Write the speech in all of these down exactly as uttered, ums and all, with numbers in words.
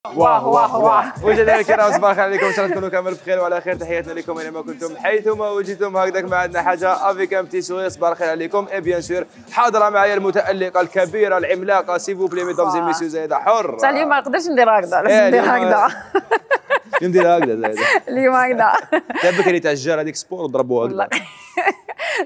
واه واه واه مشاهدينا الكرام صباح الخير عليكم، ان شاء الله تكونوا كامل بخير وعلى خير. تحياتنا لكم اينما كنتم حيثما وجدتم. هكذاك ما عندنا حاجه افيك ام بتي سوري. صباح الخير عليكم. اي بيان سور حاضره معايا المتالقه الكبيره العملاقه سيفو بلي ميدامز اي ميسيو زايده حر. بصح اليوم ما نقدرش ندير هكذا، لازم ندير هكذا. ندير هكذا زايده اليوم هكذا. تاع بكري تاع الجار هذيك سبور ضربوها هكذا.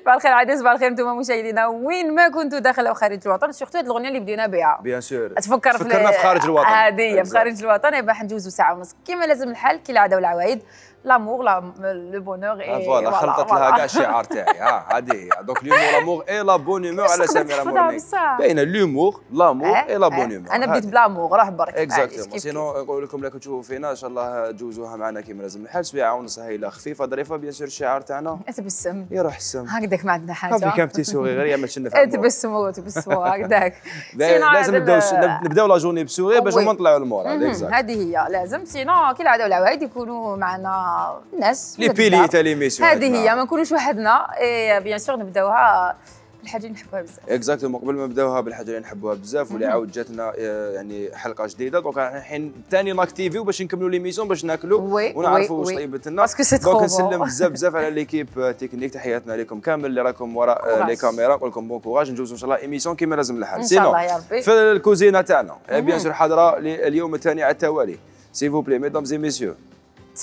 صباح الخير عادي، صباح الخير انتم مشاهدينا وين ما كنتوا داخل او خارج الوطن. سورتو هذه الاغنيه اللي بدينا بها بيان سور تفكر في فكرنا في خارج الوطن. هذه هي في خارج الوطن. يبقى حنجوزوا ساعه ونص كما لازم الحال كالعاده والعوايد. لامور لو بونور اي فوالا خلطت لها كاع الشعار تاعي. ها هذه هي دونك ليومور لامور اي لا بون هيمور على سميره مورني. باينه ليومور لامور اي لا بون هيمور. انا بديت بلامور راه برك. اكزاكتومون سينو نقول لكم لا تشوفوا فينا ان شاء الله جوزوها معنا كيما لازم الحال. سويعه ونص هايله خفيفه ظريفه. بيان سور الشعار تاعنا تبسم يروح السم هكذاك ما عندنا حاجه. في كام تي سوري غير يعمل شنو في تبسموا تبسموا هكذاك. لازم نبداو نبداو لا جورني بسوري باش هما نطلعوا المور. هذه هي لازم سينو كالعاده والعوايد يكونوا معنا الناس لي بيلي تاع ليميسيون. هذه هي ما نكونوش وحدنا. اي بيان سور نبداوها بالحاجه اللي نحبوها بزاف. اكزاكتومون قبل ما نبداوها بالحاجه اللي نحبوها بزاف واللي عاود جاتنا يعني حلقه جديده. دونك الحين ثاني ناكتيفيو باش نكملوا ليميسيون باش ناكلوا ونعرفوا واش طيبت لنا. دونك نسلم بزاف بزاف على ليكيب تكنيك. تحياتنا لكم كامل اللي راكم وراء لي كاميرا. نقول لكم بون كوراج ندوزوا ان شاء الله ايميسيون كيما لازم الحال. ان شاء الله يا ربي. في الكوزينه تاعنا بيان سور حاضره اليوم الثاني على التوالي. سيفو بلي ميدامز اي ميسيو.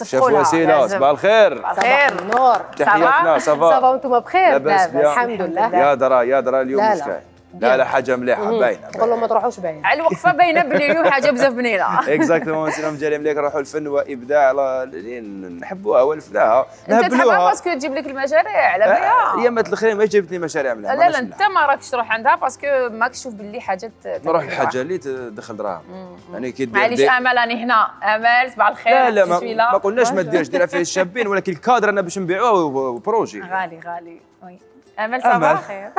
شيف وسيله صباح الخير. صباح الخير نور. تحياتنا صافا صافا وانتم بخير؟ لاباس الحمد لله. يا درا يا درا اليوم لا مش لا. كاين. لا لا حاجه مليحه باينه. نقول لهم ما تروحوش باين. على الوقفه باينه بلي اليوم حاجه بزاف بنينه. اكزاكتومون سلام جاري مليك نروحوا الفن وابداع اللي نحبوها ونفداها انت تحبها باسكو تجيب لك المشاريع على بالها. ايامات الاخرين ما جابت لي مشاريع مليحه. لا لا انت ما راكش تروح عندها باسكو ماكش تشوف باللي حاجات نروح الحاجه اللي تدخل دراهم. يعني كي معليش امل راني هنا. امل صباح الخير. لا لا ما, ما قلناش ما ديرش ديرها فيه الشابين ولكن الكادر انا باش نبيعوه بروجي غالي غالي. وي امل صباح الخير.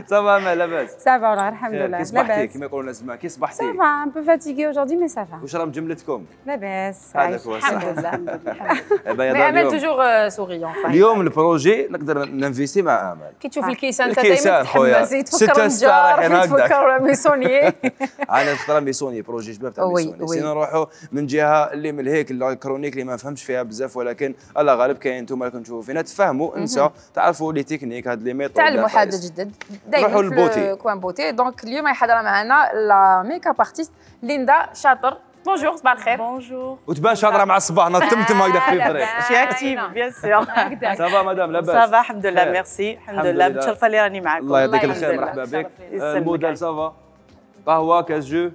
صافا امل لاباس؟ صافا والله الحمد لله. كي صبحتي كيما يقولوا الناس كي صبحتي؟ صافا ان بو فاتيغي اجوردي مي صافا. واش راه مجملتكم؟ لاباس هذاك هو الصح. الحمد لله الحمد لله. امل توجور سوريون. اليوم البروجي نقدر ننفيستي مع امل. كي تشوف الكيسان انت دائما تحمسي تفكر النجار تفكر ميسونيي. انا نختار ميسوني بروجي شباب تاع ميسوني. سينا نروحوا من جهه اللي من هيك الكرونيك اللي ما نفهمش فيها بزاف ولكن الله غالب كاين انتم راكم تشوفوا فينا تفهموا انسى تعرفوا لي تكنيك هاد لي ميثود تعلموا حاجه جدد دائما في كوان بوتي. دونك اليوم حاضره معنا لا ميك اب ارتيست ليندا شاطر. بونجور صباح الخير. بونجور. وتبان شاطره مع الصباح نطمتم هكذا في الطريق. شي اكتيف بيان سور. صافا مدام لاباس؟ صافا الحمد لله ميرسي الحمد لله. متشرفه اللي راني معكم. الله يعطيك الخير مرحبا بك. الموديل صافا قهوه كاس جو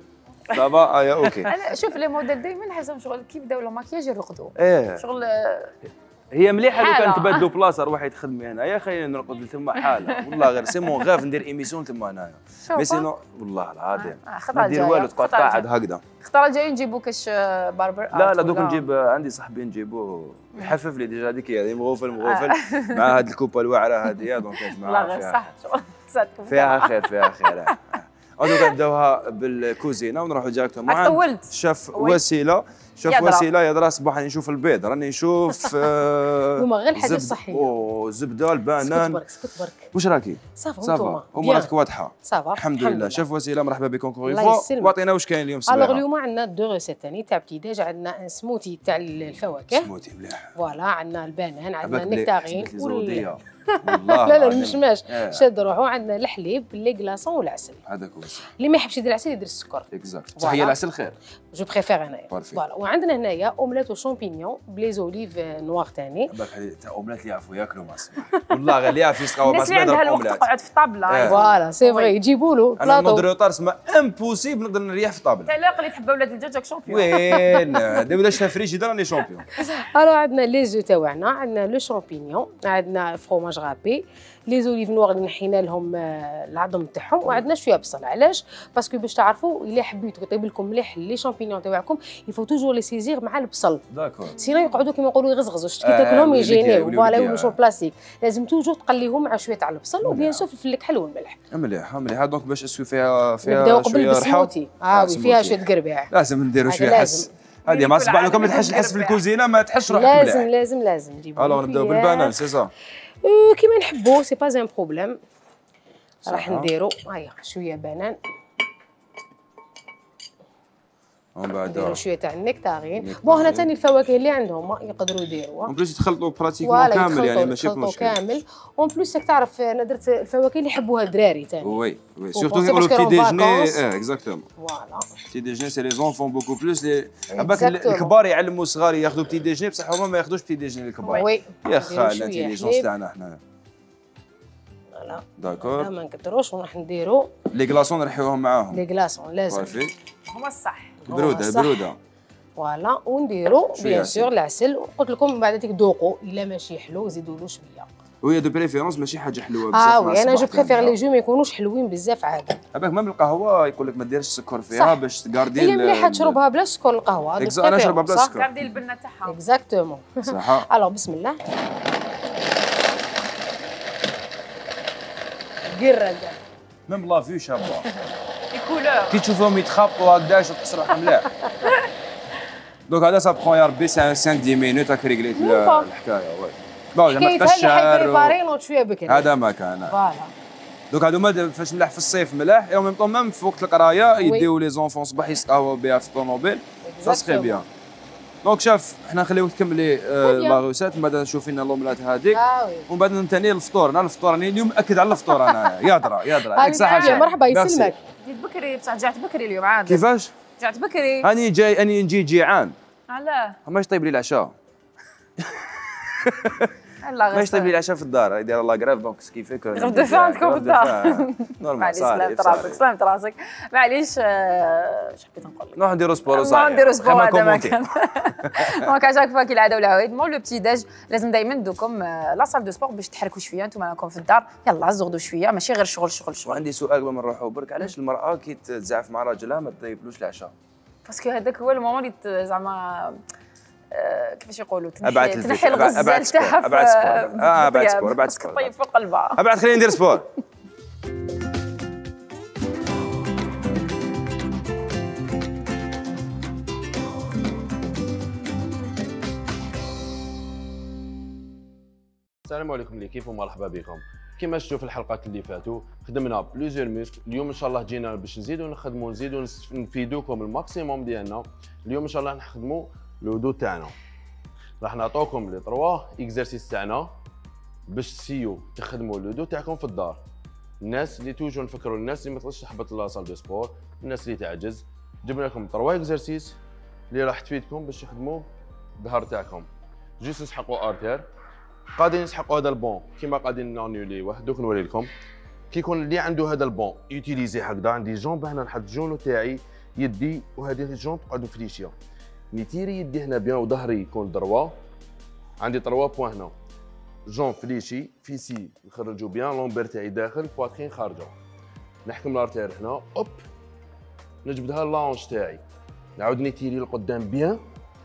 صافا ايا اوكي. انا شوف لي موديل دائما نحسهم شغل كي بداو لو ماكياج يرقدوا. ايه شغل هي مليحه لو كان تبدلوا بلاصه روحي تخدمي هنايا خلينا نرقد تما حاله. والله غير سي مون غاف ندير ايميسيون تما هنايا. مي سينو والله العظيم ما ندير والو تبقى قاعد هكذا. الخطره الجايه نجيبوا كاش باربر. لا لا دوك نجيب عندي صاحبي نجيبوه يحفف لي ديجا هذيك هي مغوفل مغوفل مع هذه الكوبه الواعره هذه. دونك لا غير صح فيها خير فيها خير. دوكا نبداوها بالكوزينه ونروحوا ديريكتومون. طولت. شاف وسيله شاف وسيله يا درا صباح راني نشوف البيض راني نشوف هما غير الحاجه الصحيه. اوه زبده البنان. برك اسكت برك. واش راكي؟ صافا صافا اموراتك واضحه. صافا الحمد لله. شاف وسيله مرحبا بكم كوري فوا. واعطينا واش كاين اليوم الصباح. الوغ اليوم عندنا دو ريسيت ثاني تاع ابتداء. عندنا سموتي تاع الفواكه. سموتي مليح. فوالا عندنا البنان عندنا النكتارين والله لا لا المشماش شاد روحو. عندنا الحليب لي كلاصون والعسل. هذاك هو الصح. اللي ما يحبش يدير العسل يدير السكر. اكزاكت صحيه العسل خير. جو بريفير انايا. فوالا وعندنا هنايا اومليت وشامبينيون بلي زوليف نوار ثاني. بالك تاع اومليت اللي يعرفوا ياكلوا مع الصباح. والله غير اللي يعرف يسقاو مع الصباح يدير اومليت. تقعد في الطابله. فوالا سي فري يجيبوا له بلاطو. انا نوض روطار سما امبوسيبل نقدر نريح في الطابله. تاع الاقل اللي تحب اولاد الدجاج شامبيون. وين دابا شتا فريجيدير راني شامبيون. الو عندنا لي زو تاعنا عندنا لو شامبينيون عندنا فروماج غابي لي زوليف نوار اللي نحينا لهم العظم تاعهم وعندنا شويه بصل. علاش؟ باسكو باش تعرفوا الا حبيتوا يطيب لكم مليح لي شامبينيون تاعكم يفو توجور لي سيزير مع البصل. داكور. سينو يقعدوا كيما يقولوا يغزغزوا شتي تاكلهم يجينيو فوالا يولوا بلاستيك. لازم توجور تقليهم مع شويه تاع البصل وبيان سور الفلفل الحلو والملح. مليح مليح. دونك باش اسكو فيها فيها نبداو قبل بالسموتي. اه وي فيها شويه قرباع. لازم نديروا شويه حس. هذه ما صبح لكم ما تحش الحس في الكوزينه ما تحش روحك مليح. لازم لازم لازم نجيبوا. الوغ نبداو بالبنان سي صا. كيما نحبوا سي با ان بروبليم. راح نديروا هيا شويه بنان ومن بعد نديروا شويه تاع النكتارين. بون هنا ثاني الفواكه اللي عندهم يقدروا يديروها. اون بليس يتخلطوا براتيكمون كامل يعني ماشي مشكل. كامل. اون بليس راك تعرف انا درت الفواكه اللي يحبوها الدراري ثاني. وي وي سورتو يقولوا بتي ديجني اه اكزاكتومون. فوالا. بتي ديجني سي لي زونفون بوكو بلوس لي عباك الكبار يعلموا الصغار ياخذوا بتي ديجني بصح هما ما ياخذوش بتي ديجني الكبار. وي. يا خا الانتيليجونس تاعنا حنايا. فوالا. داكور. ما نكثروش وراح نديروا لي كلاصون نرحيوهم معاهم. لي كلاصون لازم. هما الصح. البروده البروده. فوالا ونديروا بيان سور العسل وقلت لكم من بعد هذيك ذوقوا الا ماشي حلو زيدوا له شويه. وهي دو بريفيرونس ماشي حاجه حلوه بزاف. اه وي انا جو بريفير لي جو ما يكونوش حلوين بزاف عادي. هذاك ميم القهوه يقول لك ما ديرش السكر فيها باش تكاردي. هي مليحه تشربها بلا سكر القهوه. انا نشربها بلا سكر. كاردي البنه تاعها. اكزاكتومون. صح. الو بسم الله. قرد. ميم لا فيو شابه. الكولور. كي تشوفهم يتخبطوا هكذاش وتحس روحك مليح. دونك هذا سا بخون يا ربي خمسة عشر مينوت هاك ريغليت الحكايه. وي بون ما تبقاش شهر شويه بكري. هذا ما كان. فوالا. دوك هذوما فاش ملاح في الصيف ملاح اي ميم طون ميم في وقت القرايه يديو لي زونفون صباح يسقاو بها في الطوموبيل سا سخي بيان. دونك شاف حنا نخليوك تكملي لا روسات من بعد نشوف لنا لوملات هذيك ومن بعد ثاني الفطور. انا الفطور راني اليوم مأكد على الفطور انا يادرا يادرا هذيك صح. مرحبا يسلمك. جيت بكري بصح رجعت بكري اليوم عاد. كيفاش؟ رجعت بكري. هاني جاي هاني نجي جيعان. علاه؟ ماش طيب لي العشاء. الله ماش طيب لي العشاء في الدار يدير الله كراف دونك كيفيك. غير دفع عندكم في الدار. نورمال صافي. سلامت راسك سلامت راسك. معليش اش حبيت نقول لك. نروح نديرو سبور وصافي. نديرو سبور هذا ما كان. دونك عشاك فوا كالعاده والعوايد مول لو بتي داج لازم دائما ندوكم لا سال دو سبور باش تحركوا شويه انتم راكم في الدار يلا زغدوا شويه ماشي غير شغل شغل شغل. وعندي سؤال قبل ما نروحوا برك علاش المراه كي تزعف مع راجلها ما تطيبلوش العشاء؟ باسكو هذاك هو المومون اللي زعما كيفاش يقولوا تنحي تنحي الغزال تاعها ابعد سبور اه ابعد سبور ابعد سبور طيب فوق قلبها ابعد خليني ندير سبور. السلام عليكم اللي كيف ومرحبا بكم. كما شفتوا في الحلقات اللي فاتوا خدمنا بليزيور ميسك. اليوم ان شاء الله جينا باش نزيدوا نخدموا نزيدوا نفيدوكم الماكسيموم ديالنا. اليوم ان شاء الله نخدموا لو دو تاعنا. راح نعطوكم لي تروا اكزرسيس تاعنا باش تسيو تخدموا لو دو تاعكم في الدار. الناس اللي توجو نفكروا الناس اللي ما تقدرش تحبط لا صال دو سبور، الناس اللي تعجز، جبنا لكم تروا اكزرسيس اللي راح تفيدكم باش تخدموا الظهر تاعكم. جيست نسحقوا ارتير قاعدين نسحقوا هذا البون كيما قاعدين نانيوليوه. دوك نوري لكم كي يكون اللي عنده هذا البون يوتيليزي هكذا. عندي جونب هنا نحط جونو تاعي يدي وهذه الجونب تقعدوا فليشيه نيتيري يدي هنا بيان وظهري يكون دروا. عندي تروا بوان هنا جون فليشي فيسي نخرجوا بيان لومبير تاعي داخل بواترين خارجه. نحكم لارتير هنا اوب نجبدها اللانش تاعي نعاود نيتيري لقدام بيان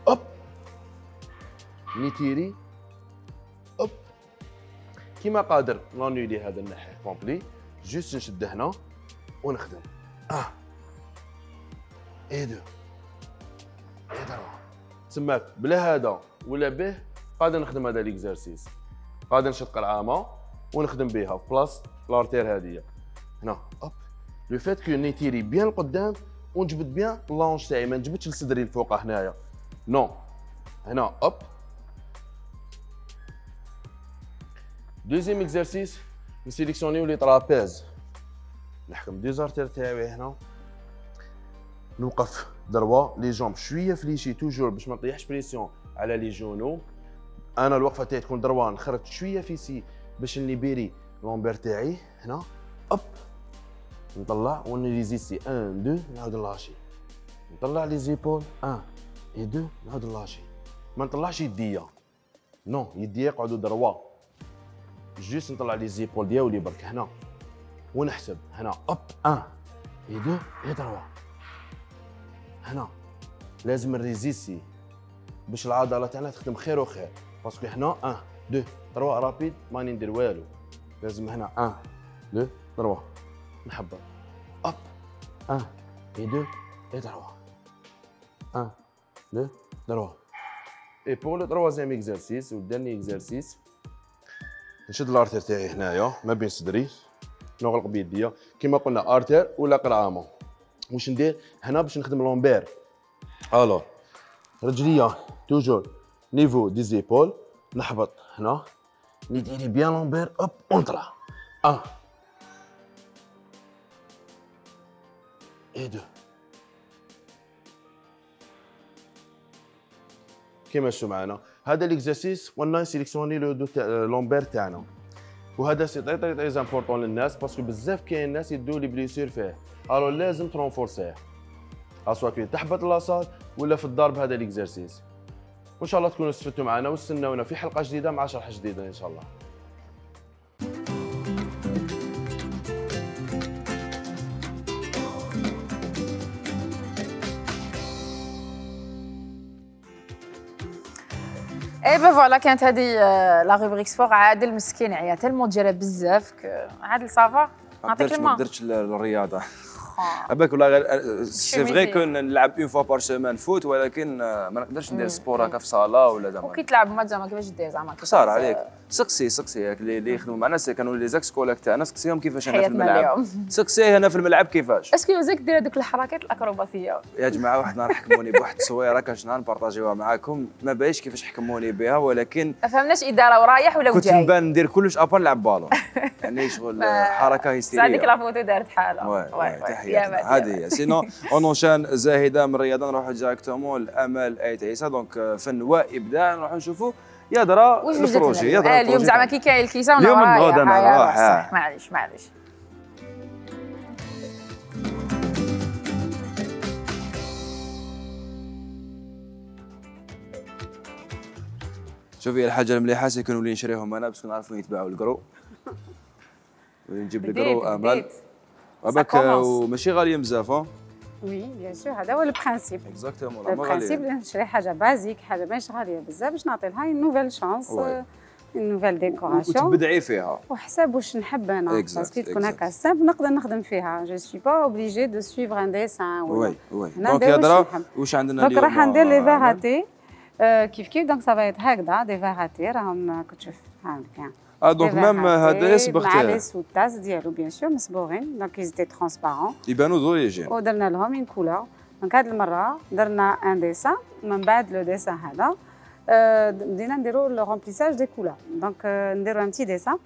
اوب نيتيري اوب كيما قادر نانيولي هذا الناحيه كومبلي. جوست نشد هنا ونخدم اه اي دو اي دروا تسماك بلا هذا ولا به قادر نخدم هذا ليكزارسيس. قادر نشق العامه ونخدم بها في بلاص لارتير هذه هنا اوب. لو فات كو نيتيري بيان القدام ونجبد بيان اللونج تاعي ما نجبدش لصدري الفوق هنايا نو هنا اوب. دوزيام اكزرسيس نسيليكسيونيو لي طرابيز. نحكم دي زارتير تاعي هنا نوقف دروا لي جامب شويه فليشي توجور باش ما نطيحش بريسيون على لي جونو. انا الوقفه تاعي تكون دروا نخرج شويه فيسي باش نليبيري لومبير تاعي هنا اوب نطلع ونريزيسي واحد اثنين نعاود نلاشي نطلع لي زيبول واحد اثنين نعاود نلاشي. ما نطلعش يديا نو يديا يقعدوا دروا جوست نطلع لي زيبول ديالي برك هنا ونحسب هنا اوب واحد اثنين دروا هنا. لازم نريزيسي باش العضله تاعنا تخدم خير وخير باسكو هنا واحد اثنين ثلاثة رابيد ماني ندير والو. لازم هنا واحد اثنين ثلاثة نحبط اوب واحد اثنين ثلاثة واحد اثنين ثلاثة. اي بور لو تروازيام اكزرسيس و الداني اكزرسيس نشد الارتير تاعي هنايا ما بين صدري نغلق بيديا كيما قلنا ارتير ولا قرعامه. واش ندير هنا باش نخدم لومبير الو رجليا توجور نيفو دي زيبول، نحبط هنا نديري بيان لومبير اوب ونطلع. ان اي دو. كيما شفتوا معنا هذا ليكزارسيس قلنا سيليكسيوني لو دو لومبير تاعنا، وهذا سي تري تري تري امبورطون للناس باسكو بزاف كاين ناس يدوا لي بليسير فيه، الو لازم ترونفورسيه اسوا كي تحبط لاصال ولا في الدار بهذا ليكزارسيس. وان شاء الله تكونوا استفدتوا معنا واستناونا في حلقه جديده مع شرح جديد ان شاء الله. اي با فوالا كانت هذه لا روبريك سبور. عادل مسكين عيا تالمون ديالها بزاف. عادل صافا نعطيك الماء. ما درتش الرياضه عباك والله غير سي فري كو نلعب اون فوا بار سيمان فوت، ولكن ما نقدرش ندير سبور هكا في صاله ولا زعما. وكي تلعب ماتش زعما كيفاش دير زعما صار عليك سقسي سقسي اللي يخدموا معنا كانوا لي زاكس كولاك تاعنا، سقسيهم كيفاش انا في الملعب، سقسيه هنا في الملعب كيفاش. اسكو زاك دير هذوك الحركات الاكروباطيه يا جماعه واحد النهار حكموني بواحد التصويره كاش نهار نبارطاجيوها معاكم، ما بايش كيفاش حكموني بها، ولكن ما فهمناش اداره ورايح ولا كنت جاي. نبان ندير كلش ابا نلعب بالون يعني شغل حركه هيستيريه. هذيك لا فوتو دارت حالها. وي تحياتنا هذه هي. سينو اون اونشان زاهده من الرياضه نروحوا ديريكتومون لامل ايت عيسى. دونك فن وابداع نروحوا نشوفوا يضرا البروجي يضرا اليوم زعما كي كاين الكيسه اليوم نغوض انا نروح. معليش معليش. شوفي الحاجه المليحه سي كنولي نشريهم انا باش نعرفوا يتباعوا الكرو ونجيب الكرو امل وباك وماشي غاليه بزاف. وي بيان سور هذا هو البرانسيب. اكزاكتومون لا البرانسيب نشري حاجه بازيك، حاجه ماشي غاليه بزاف باش نعطي لها اون نوفيل شانس، اون نوفيل ديكوراسيون وتبدعي فيها وحساب واش نحب انا باسكو تكون هكا سامبل نقدر نخدم فيها. جو سوي با اوبليجي دو سويفر ان ديسان. وي وي دونك يضرا واش عندنا اليوم؟ دونك راح ندير لي فيغاتي كيف كيف. دونك سافا هكذا دي فيغاتي راهم كتشوف هاكا. اه دونك ميم هذا صبغته مع لي سوتاس ديالو بيان سور مصبوغين، دونك ايزيتي ترونسبارون يبانوا زويجين ودرنا لهم اون كولور. دونك هاد المره درنا ان ديسان، من بعد لو ديسان هذا بدينا نديرو لو رومبليساج دي كولور. دونك نديرو ان تي ديسان.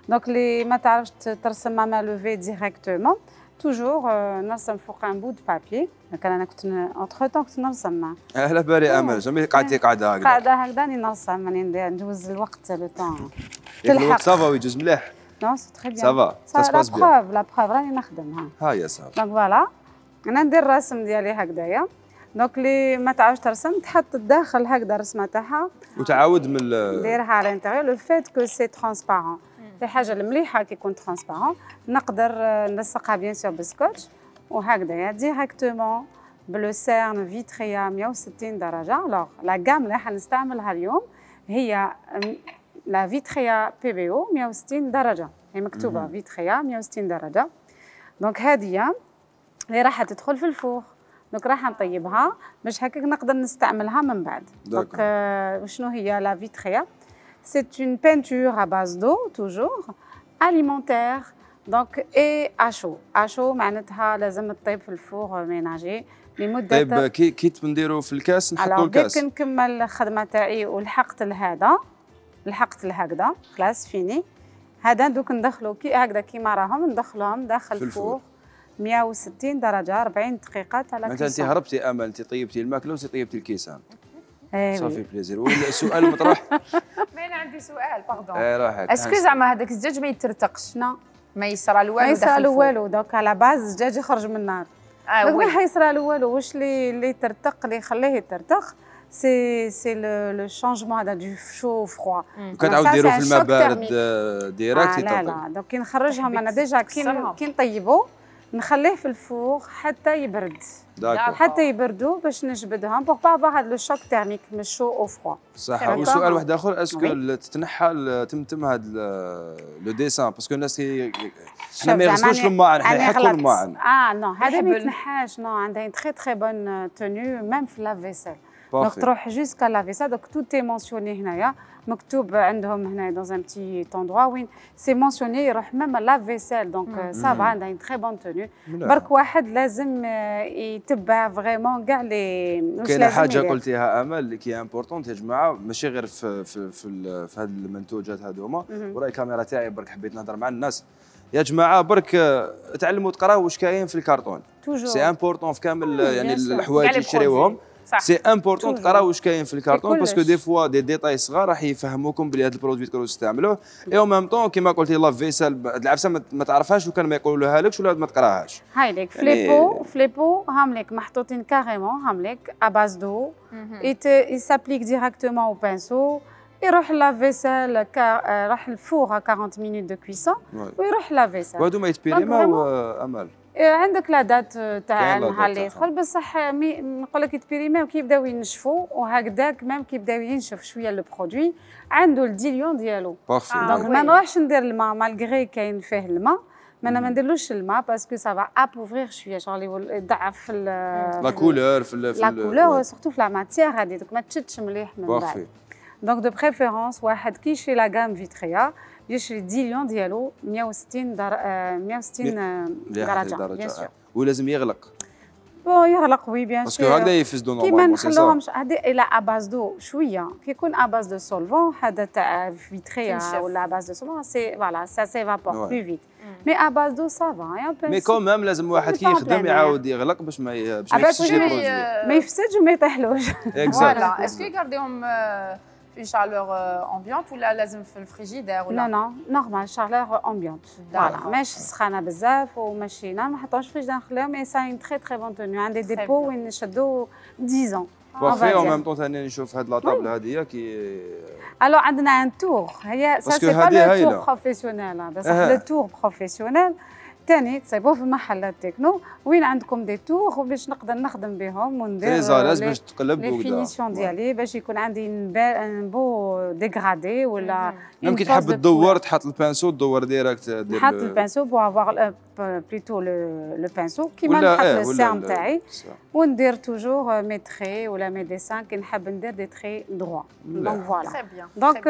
دونك اللي ما تعرفش ترسم مع ما لوفي ديريكتومون توجور نرسم فوق ان بو دو بابي. دونك انا كنت اونتر طون كنت نرسم. اهلا باري امل جميل قعدتي قاعده هكذا قاعده هكذا راني نرسم راني ندوز الوقت لو طون. الوقت صافا ويجوز مليح. نو سي تري بيان صافا سا سباس بيان. لا بروف لا بروف راني نخدمها. ها يا صافا. دونك فوالا انا ندير الرسم ديالي هكذايا. دونك اللي ما تعرفش ترسم تحط الداخل هكذا الرسمه تاعها وتعاود من ديرها على الانتيريور. لو فيت كو سي ترونسبارون الحاجه المليحه كي يكون ترونسبارون نقدر نلصقها بيان سور بسكوتش وهكذايا ديريكتومون بلو سيرن فيتريا مية وستين درجه. الوغ لا غام اللي حنستعملها اليوم هي لا فيتريا بي بي او مية وستين درجه، هي مكتوبه فيتريا مية وستين درجه. دونك هذه اللي راح تدخل في الفور. دونك راح نطيبها باش هكاك نقدر نستعملها من بعد. دونك euh, شنو هي لا فيتريا؟ سي اون بينتور ا باز دو توجور اليمونتير. دونك اي اشو اشو معناتها لازم تطيب في الفور ميناجي لمده. طيب كي كي نديرو في الكاس نحطو الكاس. كي نكمل الخدمه تاعي ولحقت لهذا لحقت لهكذا خلاص فيني. هذا دوك ندخلو كي هكذا كيما راهم ندخلهم داخل الفور مية وستين درجه أربعين دقيقه تاع لا. معناتها انت هربتي امل، انت طيبتي الماكله وانت طيبتي الكيسان. ايه صافي بليزير. والسؤال المطروح ما انا عندي سؤال باردون. ايه روحك. اسكو زعما هذاك الدجاج ما يترتقش؟ نو ما يصرى له والو. ما يصرى له والو. دونك على باز الدجاج يخرج من النار. اه دونك ما حيصرى له والو. واش اللي اللي يترتق اللي يخليه يترتق سي سي لو شونجمون هذا دو شو فروا. كتعاود ديرو في الماء بارد ديريكت. لا لا دونك كي نخرجهم انا ديجا كي كي نطيبو نخليه في الفور حتى يبرد. حتى يبردوا باش نجبدهم بوغ با افوار هذا لو شوك تيرميك من الشو او فروا. صح. وسؤال واحد اخر، اسكو تتنحى تمتم هذا لو ديسان باسكو الناس حنا ما يغسلوش الماعن، حنا يحطوا الماعن. اه نو هذا ما يتنحاش. نو عندها تري تري بون تونيو ميم في لا فيسيل. دونك تروح جوسكا لا فيسال. دونك تو تي مونسيوني هنايا مكتوب عندهم هنا dans un petit endroit وين سي مونسيوني يروح ميم لا فيسال. دونك سافا عندها une très bonne tenue. برك واحد لازم يتبع فريمون كاع لي واش لازم. كاينه حاجه قلتيها امل اللي كي امبورطونت يا جماعه، ماشي غير في في في, في هاد المنتوجات هذوما. وراي الكاميرا تاعي برك حبيت نهضر مع الناس يا جماعه، برك تعلموا تقراو واش كاين في الكرتون. سي امبورطون في كامل يعني الحوايج اللي تشريوهم. سي امبورطون تقراو واش كاين في الكرتون، باسكو دي فوا دي ديتاي صغار راح يفهموكم بلي هذا البرودوي تقدروا تستعملوه. اي او ميم طون كيما قلتي لا فيسال العفسه ما تعرفهاش وكان ما يقولوا لكش ولا ما تقراهاش. هاي ليك فليبو فليبو هام ليك محطوطين كاريمون هام ليك ا باز دو اي سابليك ديريكتومون او بانسو. يروح لا فيسال راح الفور أربعين مينوت دو كويسون ويروح لا فيسال. وهادو ما يتبيريماو امل. عندك لا دات تاع النهار اللي يدخل بصح نقول لك يتبيريماو كي يبداو ينشفوا وهكذاك ميم كي يبداو ينشف شويه لو برودوي عنده الديليون ديالو. دونك ما نروحش ندير الماء مالغري كاين فيه الماء، ما انا ما نديرلوش الماء باسكو سافا ابوفريغ شويه شغل يضعف لا كولور في لا كولور سورتو في لا ماتيير هذه. دونك ما تشدش مليح من بعد. دونك دو بريفيرونس واحد كي يشري لا غام فيتريا يشري ديليون ديالو مية وستين در... مية وستين درجه بيان سور. ولازم يغلق. بون يغلق وي بيان سور باسكو هكذا يفسدوا نورمالمون. كيما نخلوهمش هذه الى اباز دو شويه كي يكون اباز دو سولفون هذا تاع فيتريا ولا اباز دو سولفون سي فوالا سا سيفابور بلو فيت. مي اباز دو سافا مي كومام لازم واحد كي يخدم يعاود يغلق باش ما باش ما يفسدش ما يفسدش وما يطيحلوش. فوالا اسكو يغارديهم في شالور امبيونت ولا لازم في الفريجيدير ولا؟ لا لا نورمال شالور امبيونت. فوالا ماشي سخانه بزاف وماشي لا ما نحطوش في الفريجيدير نخليهم. مي سا اون تري تري بون توني. عندي ديبو وين نشدو عشرة ans. بارفي او ميم طون ثاني نشوف هاد لا طابله هذه كي الو عندنا ان تور هي سا سي با لو تور بروفيسيونيل بصح لو تور بروفيسيونيل ثاني تصيبوه في محلات تكنو وين عندكم دي تور باش نقدر نخدم بهم وندير تريزالاز باش تقلب لي فينيسيون ديالي باش يكون عندي ان بو ديغرادي ولا ممكن تحب تدور تحط البانسو تدور ديريكت نحط البانسو بو افوار بليتو لو بانسو كيما نحط السام تاعي وندير توجور مي تري ولا مي ديسان كي نحب ندير دي تري دروا. دونك فوالا دونك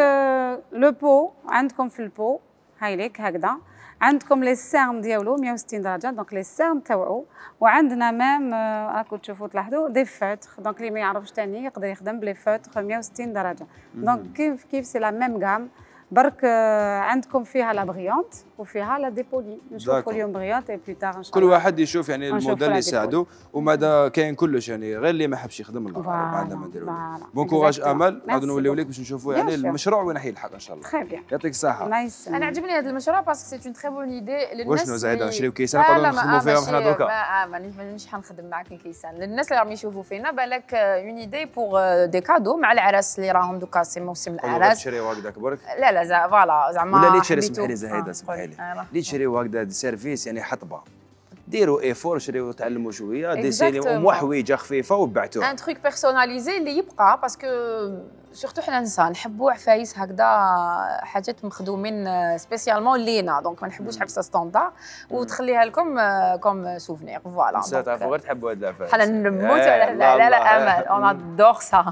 لو بو عندكم في البو هاي ليك هكذا عندكم لي سيرم ديالو مية وستين درجه. دونك لي سيرم تاوعو وعندنا ميم راكو تشوفوا تلاحظوا دي فوتر. دونك اللي ما يعرفش ثاني يقدر يخدم بلي فوتر مية وستين درجه. دونك كيف كيف سي لا ميم غام برك عندكم فيها لا بريونت وفيها لا ديبولي. نشوفوا اليوم بريونت اي بلو تار ان شاء الله. كل واحد يشوف يعني الموديل اللي يساعده وماذا كاين كلش يعني غير اللي ما حبش يخدم الله ما عندنا ما نديروا. بون كوراج امل عاد نوليو لك باش نشوفوا يعني المشروع وين راح يلحق ان شاء الله. تري بيان يعطيك الصحه. انا عجبني هذا المشروع باسكو سي اون تري بون ايدي للناس. واش زايده نشريو كيسان نقدروا نخدموا فيهم حنا دوكا. لا مانيش حنخدم معاك الكيسان. للناس اللي راهم يشوفوا فينا بالك اون ايدي بور دي كادو مع العراس اللي راهم دوكا سي موسم الاعراس. تشريو هكذاك برك. لا لا فوالا زعما ولا اللي تشري سمحي لي زهيده سمحي لي اللي تشريو هكذا سيرفيس يعني حطبه ديروا ايفور شريو تعلموا شويه ديسيني ومحويجه خفيفه وبعتوها. ان تروك بيرسوناليزي اللي يبقى باسكو سورتو حنا نسا نحبوا عفايس هكذا حاجات مخدومين سبيسيالمون لينا. دونك ما نحبوش عفسه ستاندار وتخليها لكم كوم سوفنير. فوالا نسات عفوا غير تحبوا هاد العفايس. حنا نموتوا على لا لا لا امل اون ادور سا.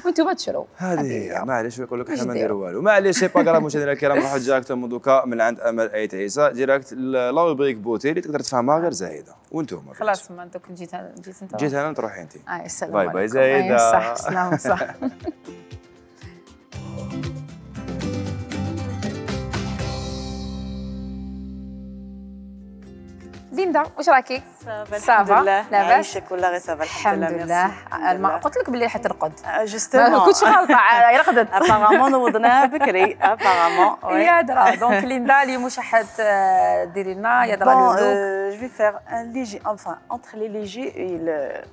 وانتم تشرو هذه معليش يقول لك حنا ما نديروا والو. معليش سي با كراف مشاهدينا الكرام نروحوا ديراكتومون دوكا من عند امل ايت عيسى ديراكت لا روبريك بوتي اللي تقدر تفهمها غير زايده. وانتم خلاص ما انت كنت جيت جيت انت جيت انا تروحي انت. اي السلام باي باي زايده. صح سلام صح. ليندا واش راكي؟ الحمد لله لاباس عايشك ولا غير صافا الحمد لله. ما قلت لك بلي حترقد جوستومون ما كنتش غلطه رقدت ابارامون نوضناها بكري ابارامون يا درا. دونك ليندا اليوم واش حديري لنا يا درا لو لوك؟ جو في فيغ ان ليجي انفان انتر لي ليجي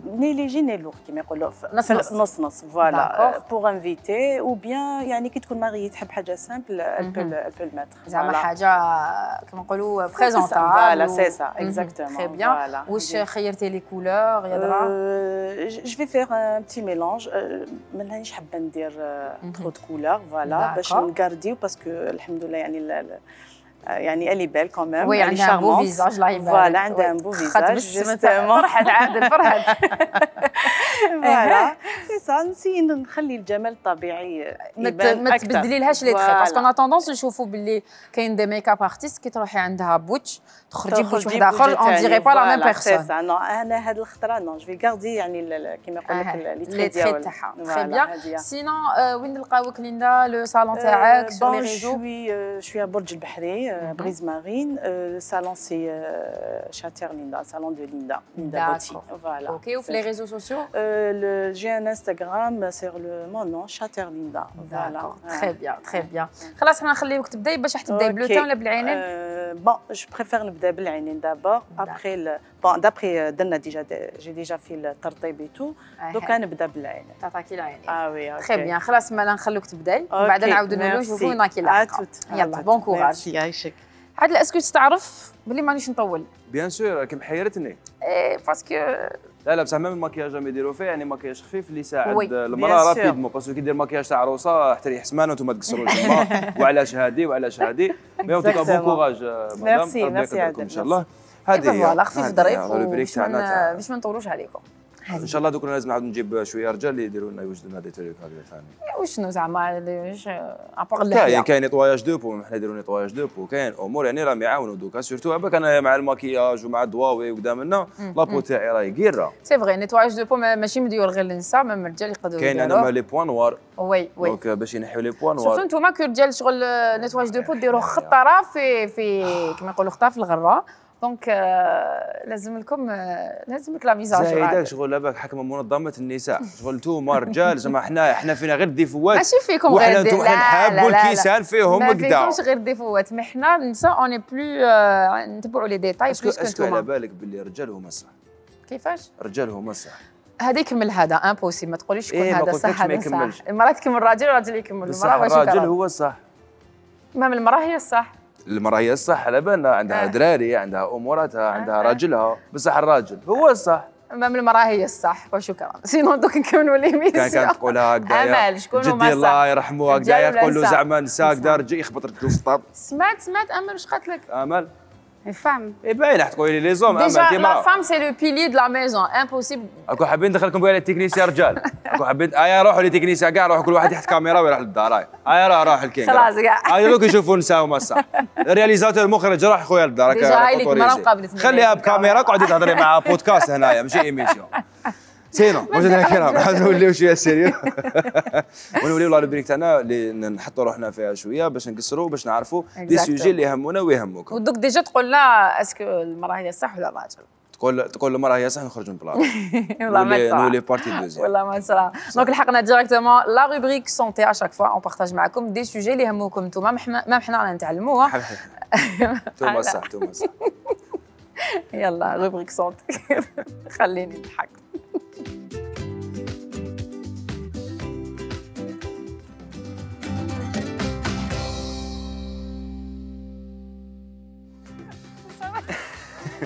ني ليجي ني لوغ كيما يقولوا نص نص نص فوالا بوغ انفيتي او بيان يعني كي تكون ماغي تحب حاجه سامبل البل البل ماتر زعما حاجه كيما نقولوا بريزونطابل. فوالا سي سا exactement. Très bien. Voilà. Wesh خيرتي لي كولور يا درا؟ Je vais faire un petit mélange. ما نهانيش حابه ندير trop de couleurs voilà باش نغارديو باسكو الحمد لله يعني يعني elle est belle quand même. Oui, elle a un beau visage là. Voilà, elle a un beau visage. فرحت عادل فرحت. فوالا سي سا نسي نخلي الجمال الطبيعي يبان ما تبدلي لهاش لي تخي باسكو انا توندونس نشوفوا باللي كاين دي ميك اب ارتيست كي تروحي عندها بوتش تخرجي بوتش واحد اخر اون ديري با لا ميم بيرسون سي سا نو انا هاد الخطره نو جو في غاردي يعني كيما يقول لك لي تري تاعها تري بيان سينون وين نلقاوك ليندا لو صالون تاعك سور لي ريزو شوي شوي برج البحري بريز مارين صالون سي شاتير ليندا صالون دو ليندا ليندا بوتي فوالا اوكي وفي لي ريزو سوسيو جي ان انستغرام سير لو مون نون شاتير ليندا فوالا تري بيان تري بيان خلاص حنا نخليوك تبداي باش تبداي بلو ولا بالعينين بون جو بريفير نبدا بالعينين دابور ابخي بون دابخي درنا ديجا جي ديجا في الترطيب اي تو دوكا نبدا بالعينين تعطاكي العينين اه وي تري بيان خلاص مالا نخلوك تبداي وبعد نعاودو نشوفوا وين راكي لاحقه يلا بون كوراج ميرسي يعيشك عادل اسكو تعرف بلي مانيش نطول بيان سور راكي محيرتني اي باسكو لا لا بصح ميم الماكياج ما يديروا فيه يعني ماكياج خفيف اللي يساعد المراه رابيدمون باسكو كي دير ماكياج تاع عروسه حتى ريح سمانه وانتم تقصروا الجمعه وعلاش هادي وعلاش هادي مي اون توكا بون كوراج مدام ميرسي ميرسي عادل ان شاء الله هذه هي فوالا خفيف ظريف باش باش ما نطولوش عليكم ان شاء الله دوك لازم نعاود نجيب شويه رجال اللي يديروا لنا يوجدوا لنا دي تريك هكذا ثاني وشنو زعما واش ابار كاين كاين نيطواياج دو بو حنا نديروا نيطواياج دو بو كاين امور يعني راهم يعاونوا دوكا سورتو عباك انا مع الماكياج ومع الضواوي وقدامنا لابو تاعي راهي كيره سي فغي نيطواياج دو بو ماشي مديور غير للنساء ميم الرجال يقدروا كاين عندنا لي بوان نوار وي وي دونك باش ينحيو لي بوان نوار سورتو نتوما كرجال شغل نيطوايج دو بو ديروا خطره في في كما يقولوا خطره في الغره دونك لازم لكم لازم لك لا ميزاج زايدك شغل لاباك حكم منظمه النساء شغل انتوما رجال زعما حنا حنا فينا غير الديفوات ماشي فيكم غير ديفوات وحنا نحبوا الكيسان فيهم كدا ما فيكمش غير ديفوات مي حنا النساء اوني بلو نتبعوا لي ديتاي بلوس كنتوما اسكو على بالك باللي الرجال هما الصح كيفاش الرجال هما الصح هذا يكمل هذا امبوسيبل ما تقوليش شكون إيه هذا صح هذا صح المراه تكمل الراجل والراجل يكمل المراه واش الراجل هو الصح مام المراه هي الصح المراه هي الصح على بالنا عندها آه. دراري عندها اموراتها عندها آه. راجلها بصح الراجل هو الصح مام المراه هي الصح وشكرا سينو دوك نكملوا ليميسيون كان كانت تقولها هكذايا امل شكون هما جدي الله يرحمه هكذايا يقول له زعما نساء هكذا رجل يخبط رجلو في الطاب سمعت سمعت امل واش قالت لك امل فام اي باين راح تقولي لي زوم امل ديجا لا فام سي لو بيلي دو لا ميزون امبوسيبل اكو حابين ندخلكم بها التكنيسيا رجال اكو حابين ايا روحوا للتكنيسيا كاع روحوا كل واحد يحط كاميرا ويروح للدار هاي ايا روح روح الكينغ خلاص كاع هاي دوك يشوفوا نساء هما الصح الرياليزاتور المخرج روح خويا للدار ديجا هاي لك مرة مقابلتني خليها بكاميرا قعدي تهضري مع بودكاست هنايا ماشي ايميسيون سينو مشاهدينا الكرام حنا نوليو شويه سيريو ونوليو لا روبريك تاعنا اللي نحطوا روحنا فيها شويه باش نقصروا باش نعرفوا دي سوجي اللي يهمونا ويهموكم ودوك ديجا تقول لا اسكو المراه هي الصح ولا الراجل تقول تقول المراه هي صح نخرج من بلاصه والله ما تصرا نولي بارتي دوزيام والله ما تصرا دونك لحقنا ديريكتومون لا روبريك سونتي اشاك فوا اون بارطاج معكم دي سوجي اللي يهموكم نتوما ما حنا رانا نتعلموها نتوما صح نتوما صح يلا روبريك سونتي خليني نضحك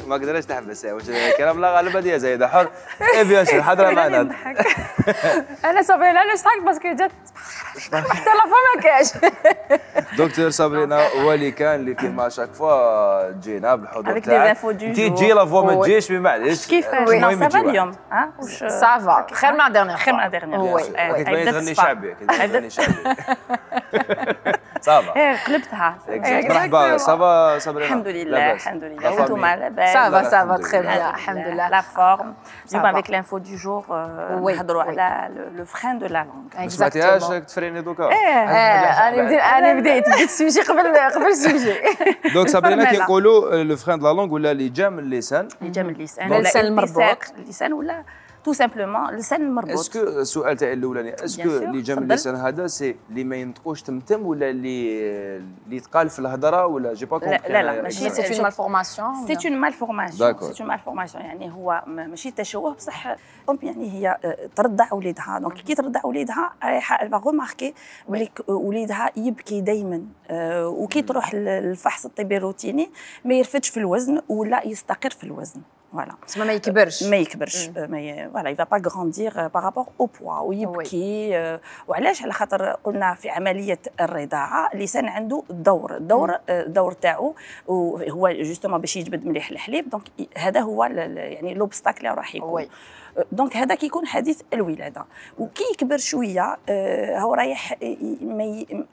ما قدرتش تحبس واش الكلام لا غالبا ديال زايده حر اي بيان سور حاضره معنا انا صابرينا علاش ضحك باسكو جات حتى لا فما ما كاش دكتور صابرينا هو اللي كان اللي كيما شاك فوا تجينا بالحضور تاعك تي تجي لا فوا ما تجيش مي معليش كيفاش سافا اليوم ها واش سافا خير من ديرنيير خير من ديرنيير وي وي تغني شعبي تغني شعبي صافا ايه قلبتها مرحبا صافا صابرينا الحمد لله الحمد لله وانتوما لاباس صافا صافا تري بيان الحمد لله لا فورم اليوم افيك لانفو دو جور نهضروا على لو فرين دو لا لونغ سمعتيهاش تفريني دوكا انا بديت انا بديت بديت السوجي قبل قبل السوجي دونك صابرينا كيقولوا لو فرين دو لا لونغ ولا اللي جا من اللسان اللي جا من اللسان اللسان المربوط اللسان ولا تو سامبلومون اللسان المربوط اسكو السؤال تاعي الاولاني اسكو اللي جا من اللسان هذا سي اللي ما ينطقوش تمتم ولا اللي اللي يتقال في الهضره ولا جي با كومبري لا لا ماشي سي اون مالفورماسيون سي اون مالفورماسيون سي اون مالفورماسيون يعني هو ماشي تشوه بصح ام يعني هي ترضع وليدها دونك كي ترضع وليدها رايحه الفا غوماركي بلي وليدها يبكي دائما وكي تروح للفحص الطبي الروتيني ما يرفدش في الوزن ولا يستقر في الوزن فوالا تسمى ما يكبرش ما يكبرش ما فوالا يفا با غراندير بارابور او بوا ويبكي وعلاش على خاطر قلنا في عمليه الرضاعه اللسان عنده دور الدور الدور تاعو وهو جوستومون باش يجبد مليح الحليب دونك هذا هو يعني لوبستاكل اللي راح يكون دونك هذا كيكون حديث الولاده. وكي يكبر شويه هو رايح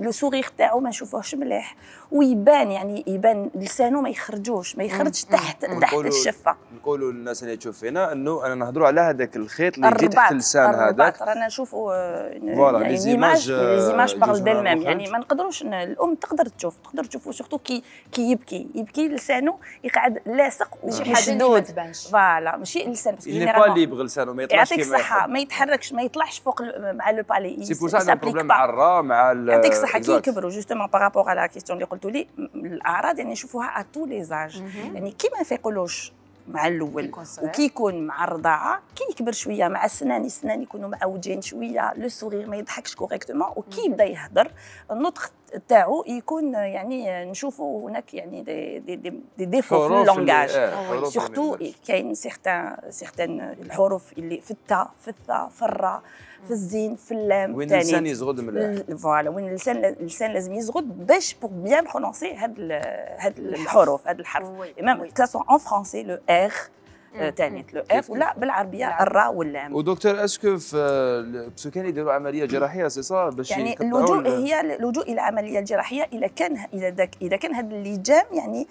لو سوغيغ تاعو ما نشوفوهش مليح ويبان، يعني يبان لسانه ما يخرجوش ما يخرجش تحت تحت الشفه. نقولوا للناس اللي تشوف فينا انه انا نهضروا على هذاك الخيط اللي يجي تحت اللسان هذاك. رانا نشوفوا يعني لي زيماج لي زيماج بارل ديل يعني ما نقدروش الام تقدر تشوف تقدر تشوفوا سورتو كي كي يبكي يبكي لسانه يقعد لاصق ومشدود. فوالا ماشي اللسان باسكو جينيرالمون اللي يبغي لسانه ما يطلعش كيما يعطيك الصحه ما يتحركش ما يطلعش فوق مع لو بالي. سي بور سا بروبليم مع الرا مع يعطيك الصحه كي يكبروا جوستومون بارابور على لا كيستيون اللي قلتوا لي الاعراض يعني نشوفوها ا تو لي زاج يعني كي ما يفيقولوش مع الاول وكي يكون مع الرضاعه كي يكبر شويه مع السنان السنان يكونوا معوجين شويه لو سورير ما يضحكش كوريكتومون وكي يبدا يهضر النطق تاعو يكون يعني نشوفوا هناك يعني دي دي دي, دي ديفو في اللونغاج سورتو كاين سيغتان سيغتان الحروف اللي في التاء في الثاء في الراء في الزين في اللام وين اللسان يزغد مليح. فوالا وين اللسان اللسان لازم يزغد باش بور بيان برونونسي هاد هاد الحروف هاد الحرف ميم كاسون اون فرونسي لو ار تانيت لو اف ولا بالعربيه الراء واللام. ودكتور اسكو باسكو كان يديروا عمليه جراحيه سي صا باش يعني اللجوء هي اللجوء الى عمليه جراحيه اذا كان اذا داك اذا كان هذا اللجام يعني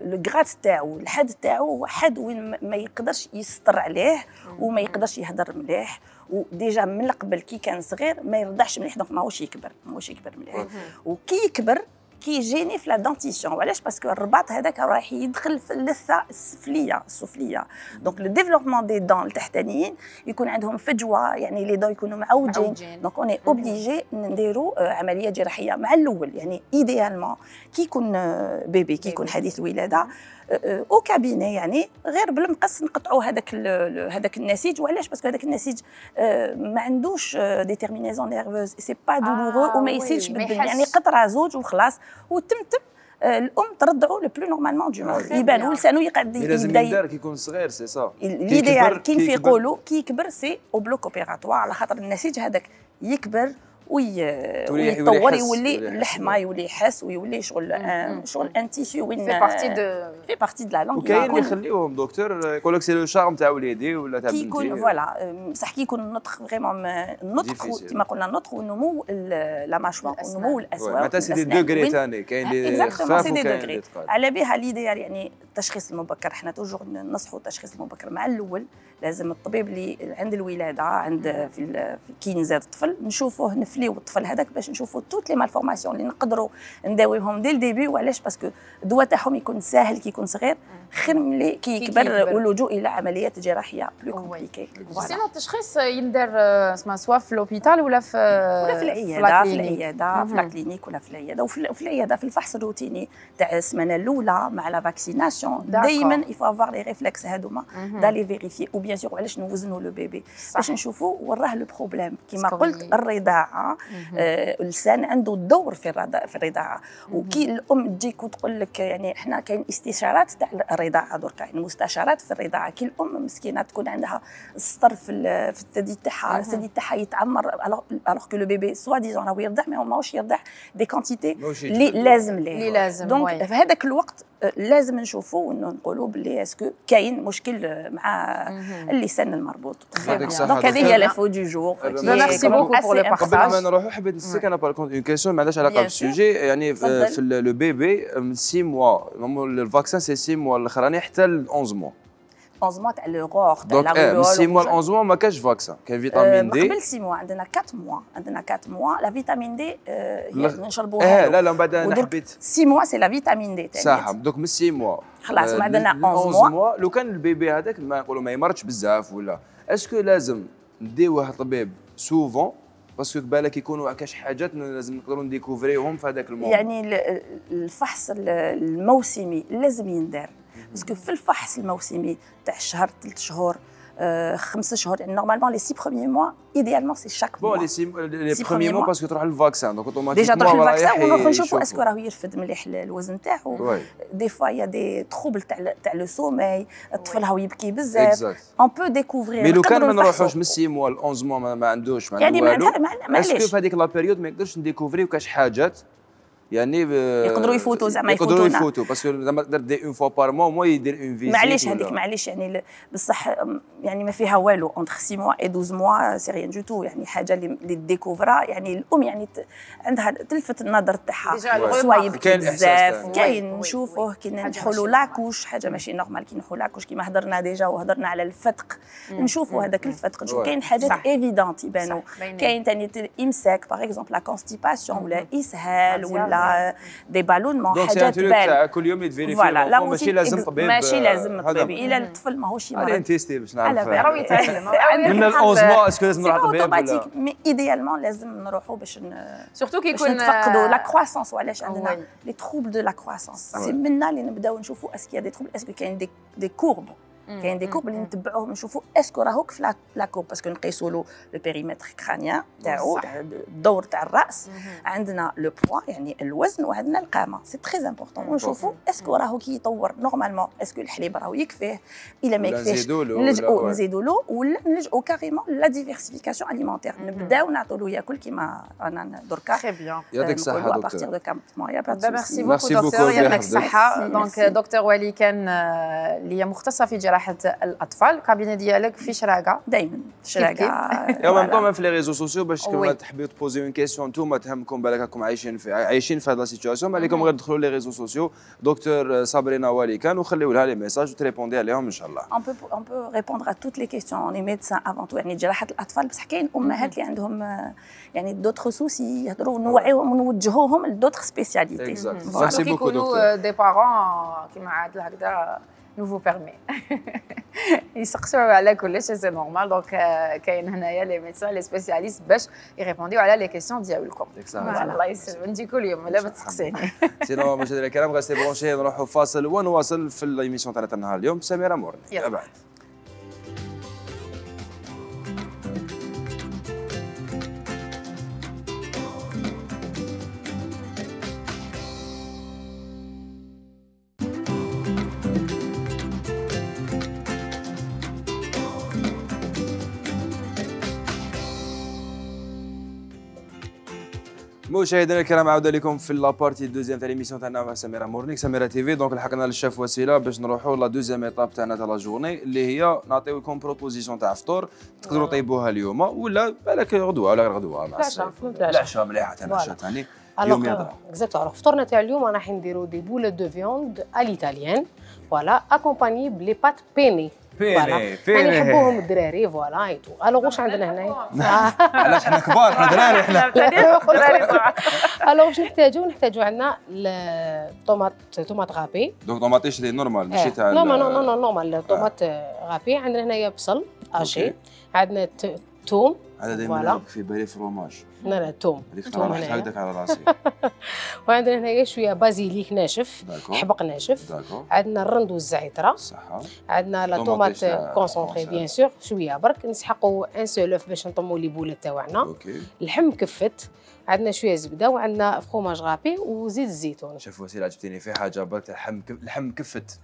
لو غرات تاعو الحد تاعو حد وين ما يقدرش يسطر عليه وما يقدرش يهضر مليح وديجا من قبل كي كان صغير ما يرضعش مليح دونك ماهوش يكبر ماهوش يكبر مليح وكي يكبر كي يجيني في لا دونتيسيون وعلاش باسكو الرباط هذاك راح يدخل في اللثه السفليه السفليه دونك لو ديفلوبمون دي دون التحتانيين يكون عندهم فجوه يعني لي دون يكونوا معوجين دونك اوني اوبليجي نديروا عمليه جراحيه مع الاول يعني ايديالمون كي يكون بيبي كي يكون حديث الولاده او كابيني يعني غير بالمقص نقطعوا هذاك هذاك النسيج وعلاش باسكو هذاك النسيج ما عندوش ديتيرمينيزون نيرفوز سي با دولورو وما يسيلش بالدم يعني قطره زوج وخلاص وتمتم الام ترضعوا لو بلو نورمالمون دو موند يبان ولسانه يقعد يبدا لازم يدار كي يكون صغير سي سا ليديال كي نفيقولوا كي يكبر سي او بلوك اوبيراتوار على خاطر النسيج هذاك يكبر ويتطور يولي اللحمه يولي يحس ويولي شغل شغل ان تيسيو وين في بارتي دو في بارتي دو لا لونغ. وكاين اللي يخليوهم دكتور يقول لك سي لو شارم تاع وليدي ولا تاع بنتي كيكون فوالا بصح كي يكون النطق فريمون النطق كيما قلنا النطق والنمو لا ماشوار والنمو الاسواق معناتها سي دي دوغري ثاني كاين اللي خفاف وكاين اللي ثقال على بها ليديال يعني التشخيص المبكر حنا توجور ننصحوا التشخيص المبكر مع الاول لازم الطبيب اللي عند الولاده عند في كي نزاد الطفل نشوفوه نفليو الطفل هذاك باش نشوفوا توت لي مالفورماسيون اللي نقدروا نداويهم دي الديبي وعلاش باسكو الدواء تاعهم يكون ساهل كي يكون صغير خير ملي كي يكبر واللجوء الى عمليات جراحيه بلو كومبليكي. سينو التشخيص يندار اسمها سوا في لوبيتال ولا في ولا في العياده في العياده في الكلينيك ولا في العياده وفي العياده في الفحص الروتيني تاع السمانه الاولى مع لا فاكسيناسيون دائما يفو افوار لي ريفلكس هذوما دالي فيريفي و بيان سور علاش نوزنوا لو بيبي باش نشوفوا وراه لو بروبليم كيما قلت الرضاعه اللسان عنده دور في الرضاعه في الرضاعه وكي الام تجيك وتقول لك يعني احنا كاين استشارات تاع الرضاعه دركا يعني مستشارات في الرضاعه كي الام مسكينه تكون عندها السطر في في الثدي تاعها الثدي تاعها يتعمر الوغ كو لو بيبي سوا ديزون راهو يرضع ما ماهوش يرضع دي كونتيتي اللي لازم ليه اللي لازم دونك في هذاك الوقت لازم نشوفوا انه نقولوا بلي اسكو كاين مشكل مع اللسان المربوط دونك هذه هي لافو دو جور ميرسي بوكو بور لو بارطاج. قبل ما نروحوا حبيت نسالك انا بار كونت اون كيسيون ما عندهاش علاقه بالسوجي يعني في لو بيبي من ستة موا الفاكسان سي ستة موا الاخراني حتى ل احد موا احد موا تاع لو غور تاع لا غورول. دونك ستة موا ل احد موا ما كاش فاكسان كاين فيتامين دي قبل ستة موا عندنا أربعة موا عندنا أربعة موا لا فيتامين دي هي نشربوها اه لا لا من بعد انا حبيت ستة موا سي لا فيتامين دي تاع صح دوك من ستة موا خلاص ما عندنا احد موا لو كان البيبي هذاك ما نقولوا ما يمرضش بزاف ولا اسكو لازم نديوه طبيب سوفون باسكو بالك يكونوا كاش حاجات لازم نقدروا نديكوفريهم في هذاك الموضوع يعني الفحص الموسمي لازم يندار باسكو في الفحص الموسمي تاع الشهر ثلاث شهور خمس شهور يعني نورمالمون لي سي بروميي موا ايديالمون سي شاك موا بون لي سي لي بروميي موا باسكو تروح للفاكسان دونك اوتوماتيكمون ديجا تروح للفاكسان ونروح نشوفوا اسكو راهو يرفد مليح الوزن تاعو دي فوا يا دي تروبل تاع تاع لو سومي الطفل راهو يبكي بزاف اون بو ديكوفري مي لو كان ما نروحوش من ستة موا ل احد موا ما عندوش ما عنده والو اسكو في هذيك لا بيريود ما يقدرش نديكوفريو كاش حاجات يعني يقدروا يفوتوا زعما يفوتوا يقدروا يفوتوا باسكو زعما تقدر دير اون فوا بار مو مو يدير اون فيزيت معليش هذيك معليش يعني بصح يعني ما فيها والو اونتر ستة موا اي اثنا عشر موا سي ريان دو تو يعني حاجه اللي ديكوفرا يعني الام يعني عندها تلفت النظر تاعها سوا يبكي بزاف كاين نشوفوه كي ننجحوا له لاكوش حاجه ماشي نورمال كي نحو لاكوش كيما هضرنا ديجا وهضرنا على الفتق نشوفوا هذاك الفتق نشوف كاين حاجات ايفيدونت يبانوا كاين ثاني امساك باغ اكزومبل لا كونستيباسيون ولا اسهال ولا دي بالونمون حاجات تبان كل يوم يتفيريفي ماشي لازم طبيب ماشي لازم طبيب الا الطفل ماهوش مريض عليه تيستي باش نعرف راهو يتعلم من الأونز موا اسكو لازم نروح طبيب مي ايديالمون لازم نروحوا باش سورتو كي يكون نتفقدوا لا كرواسونس وعلاش عندنا لي تروبل دو لا كرواسونس سي منا اللي نبداو نشوفوا اسكو يا دي تروبل اسكو كاين دي دي كورب كاين دي كورب اللي نتبعوهم نشوفوا اسكو راهوك في لا كورب باسكو نقيسوا له لو بيريمتر كرانيان تاعو الدور تاع الراس عندنا لو بوا يعني الوزن وعندنا القامه سي تري امبورطون ونشوفوا اسكو راهو كي يطور نورمالمون اسكو الحليب راهو يكفيه الا ما يكفيش نلجؤوا نزيدوا له ولا نلجؤوا كاريمون لا ديفيرسيفيكاسيون اليمونتير نبداو نعطوا له ياكل كيما رانا دركا تري بيان يعطيك الصحه دكتور ميرسي بوكو دكتور يعطيك الصحه دونك دكتور ولي كان اللي هي مختصه في جراحه الاطفال الكابينه ديالك في شراقه دائما شراقه يا ميم طون في لي ريزو سوسيو باش كما تحبوا تبوزيو اون كيسيون نتوما تهمكم بالك راكم عايشين في عايشين في هذه لا سيتواسيون ما عليكم غير تدخلوا لي ريزو سوسيو دكتور صابرينا ولي كان وخليوا لها لي ميساج وتريبوندي عليهم ان شاء الله. اون بو اون بو ريبوندر ا توت لي كيسيون اون ميدسان افون تو يعني جراحه الاطفال بصح كاين امهات اللي عندهم يعني دوطخ سوسي يهضروا نوعيوهم ونوجهوهم لدوطخ سبيسياليتي. ميرسي بوكو دكتور. دي بارون كيما عادل هكذا nous vous permet. يسقسوا على كل شيء سي نورمال دونك كاين هنايا لي ميدسان لي سبيسياليست باش يريبونديو على لي كيسيون ديالكم. الله يسلمك انت كل يوم لا ما تسقسيني. سينو مشاهدينا الكرام غاستي برونشي نروحوا فاصل ونواصل في الايميسيون تاعنا النهار اليوم سميره مورني. بعد مشاهدينا الكرام عوده لكم في لابارتي دوزيام تاع ليميسيون تاعنا مع سميره مورنيك سميره تي في. دونك لحقنا للشاف وسيله باش نروحوا لا دوزيام ايطاب تاعنا تاع لا جورني اللي هي نعطيو لكم بروبوزيسيون تاع فطور تقدروا طيبوها اليوم ولا بالك غدوه ولا غير غدوه مع العشاء. العشاء مليحه تاع العشاء ثاني اليوم يضرب. اكزاكتو الوغ فطورنا تاع اليوم راح نديروا دي بولت دو فيوند ا ليتاليان فوالا اكومباني بلي بات بيني فيني فيني يعني يحبوهم الدراري فوالا اي تو. الوغ واش عندنا هنايا؟ علاش حنا كبار حنا دراري حنا الوغ واش نحتاجو؟ نحتاجو عندنا الطوماط طوماط غابي دونك طوماطيش لي نورمال ماشي تاع نو نو نو نو نورمال طوماط غابي. عندنا هنايا بصل اشي عندنا توم هذا دائما في بالي فروماج لا لا توم توم هكذاك على راسي وعندنا هنايا شويه بازيليك ناشف حبق ناشف عندنا الرند والزعتره صحه عندنا لا طوماط كونسونطري بيان سور شويه برك نسحقوا ان سولوف باش نطموا لي بولات تاعنا اللحم مكفت عندنا شويه زبده وعندنا فروماج غابي وزيت الزيتون. شوف وسيله عجبتيني في حاجه برك اللحم اللحم مكفت